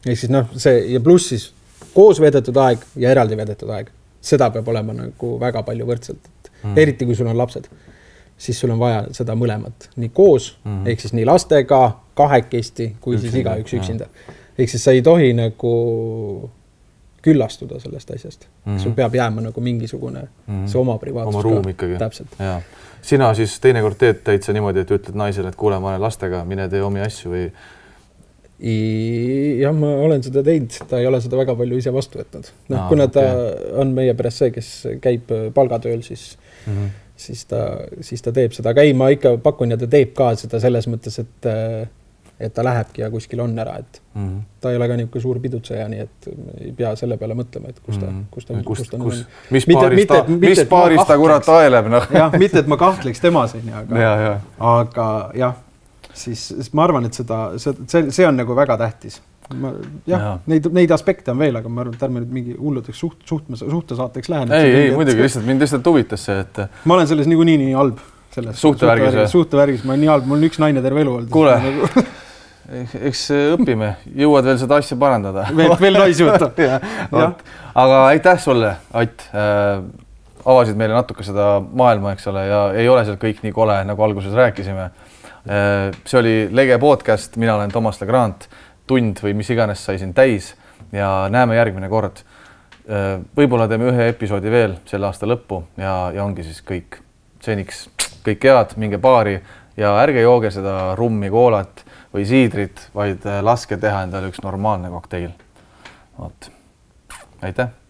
Speaker 2: Ehk siis see ja pluss siis koos veedetud aeg ja eraldi veedetud aeg. Seda peab olema nagu väga palju võrdselt. Eriti kui sul on lapsed, siis sul on vaja seda mõlemat. Nii koos, ehk siis nii lastega, kahekesti, kui siis igaüks üksinda. Ehk siis sa ei tohi nagu küllastuda sellest asjast. Sul peab jääma nagu mingisugune see oma privaatsus.
Speaker 1: Oma ruum ikkagi.
Speaker 2: Täpselt.
Speaker 1: Ja. Sina siis teinekord teed täitsa niimoodi, et ütled naisele, et kuule, ma olen lastega, mine tee omi asju või?
Speaker 2: Jah, ma olen seda teinud, ta ei ole seda väga palju ise vastu võtnud. Kuna ta on meie peres see, kes käib palgatööl, siis ta teeb seda. Aga ei, ma ikka pakun ja ta teeb ka seda selles mõttes, et ta lähebki ja kuskil on ära, et ta ei ole ka niisugune suur pidutseja, nii et ei pea selle peale mõtlema, et kus ta
Speaker 1: mis paaris ta kurat aeleb, noh.
Speaker 2: Jah, mitte, et ma kahtleks temas, aga jah, siis ma arvan, et see on nagu väga tähtis. Neid aspekte on veel, aga ma arvan, et ärme nüüd mingi hulludeks suhtesaateks lähen.
Speaker 1: Ei, muidugi, mind lihtsalt huvitas see, et
Speaker 2: ma olen selles nii halb. Suhtevärgis, ma olen nii halb, mul on üks naine terve elu olnud.
Speaker 1: Kuule, eks õpime, jõuad veel seda asja parandada.
Speaker 2: Veel naisi võtta.
Speaker 1: Aga aitäh sulle, Att. Avasid meile natuke seda maailma, eks ole, ja ei ole seal kõik nii kole, nagu alguses rääkisime. See oli Lege podcast, mina olen Toomas Legrand, tund või mis iganes sai siin täis ja näeme järgmine kord. Võib-olla teeme ühe episoodi veel selle aasta lõppu ja ongi siis kõik. Seniks kõik head, minge baari ja ärge jooge seda rummi, koolat või siidrit, vaid laske teha endale üks normaalne kokteil. Aitäh!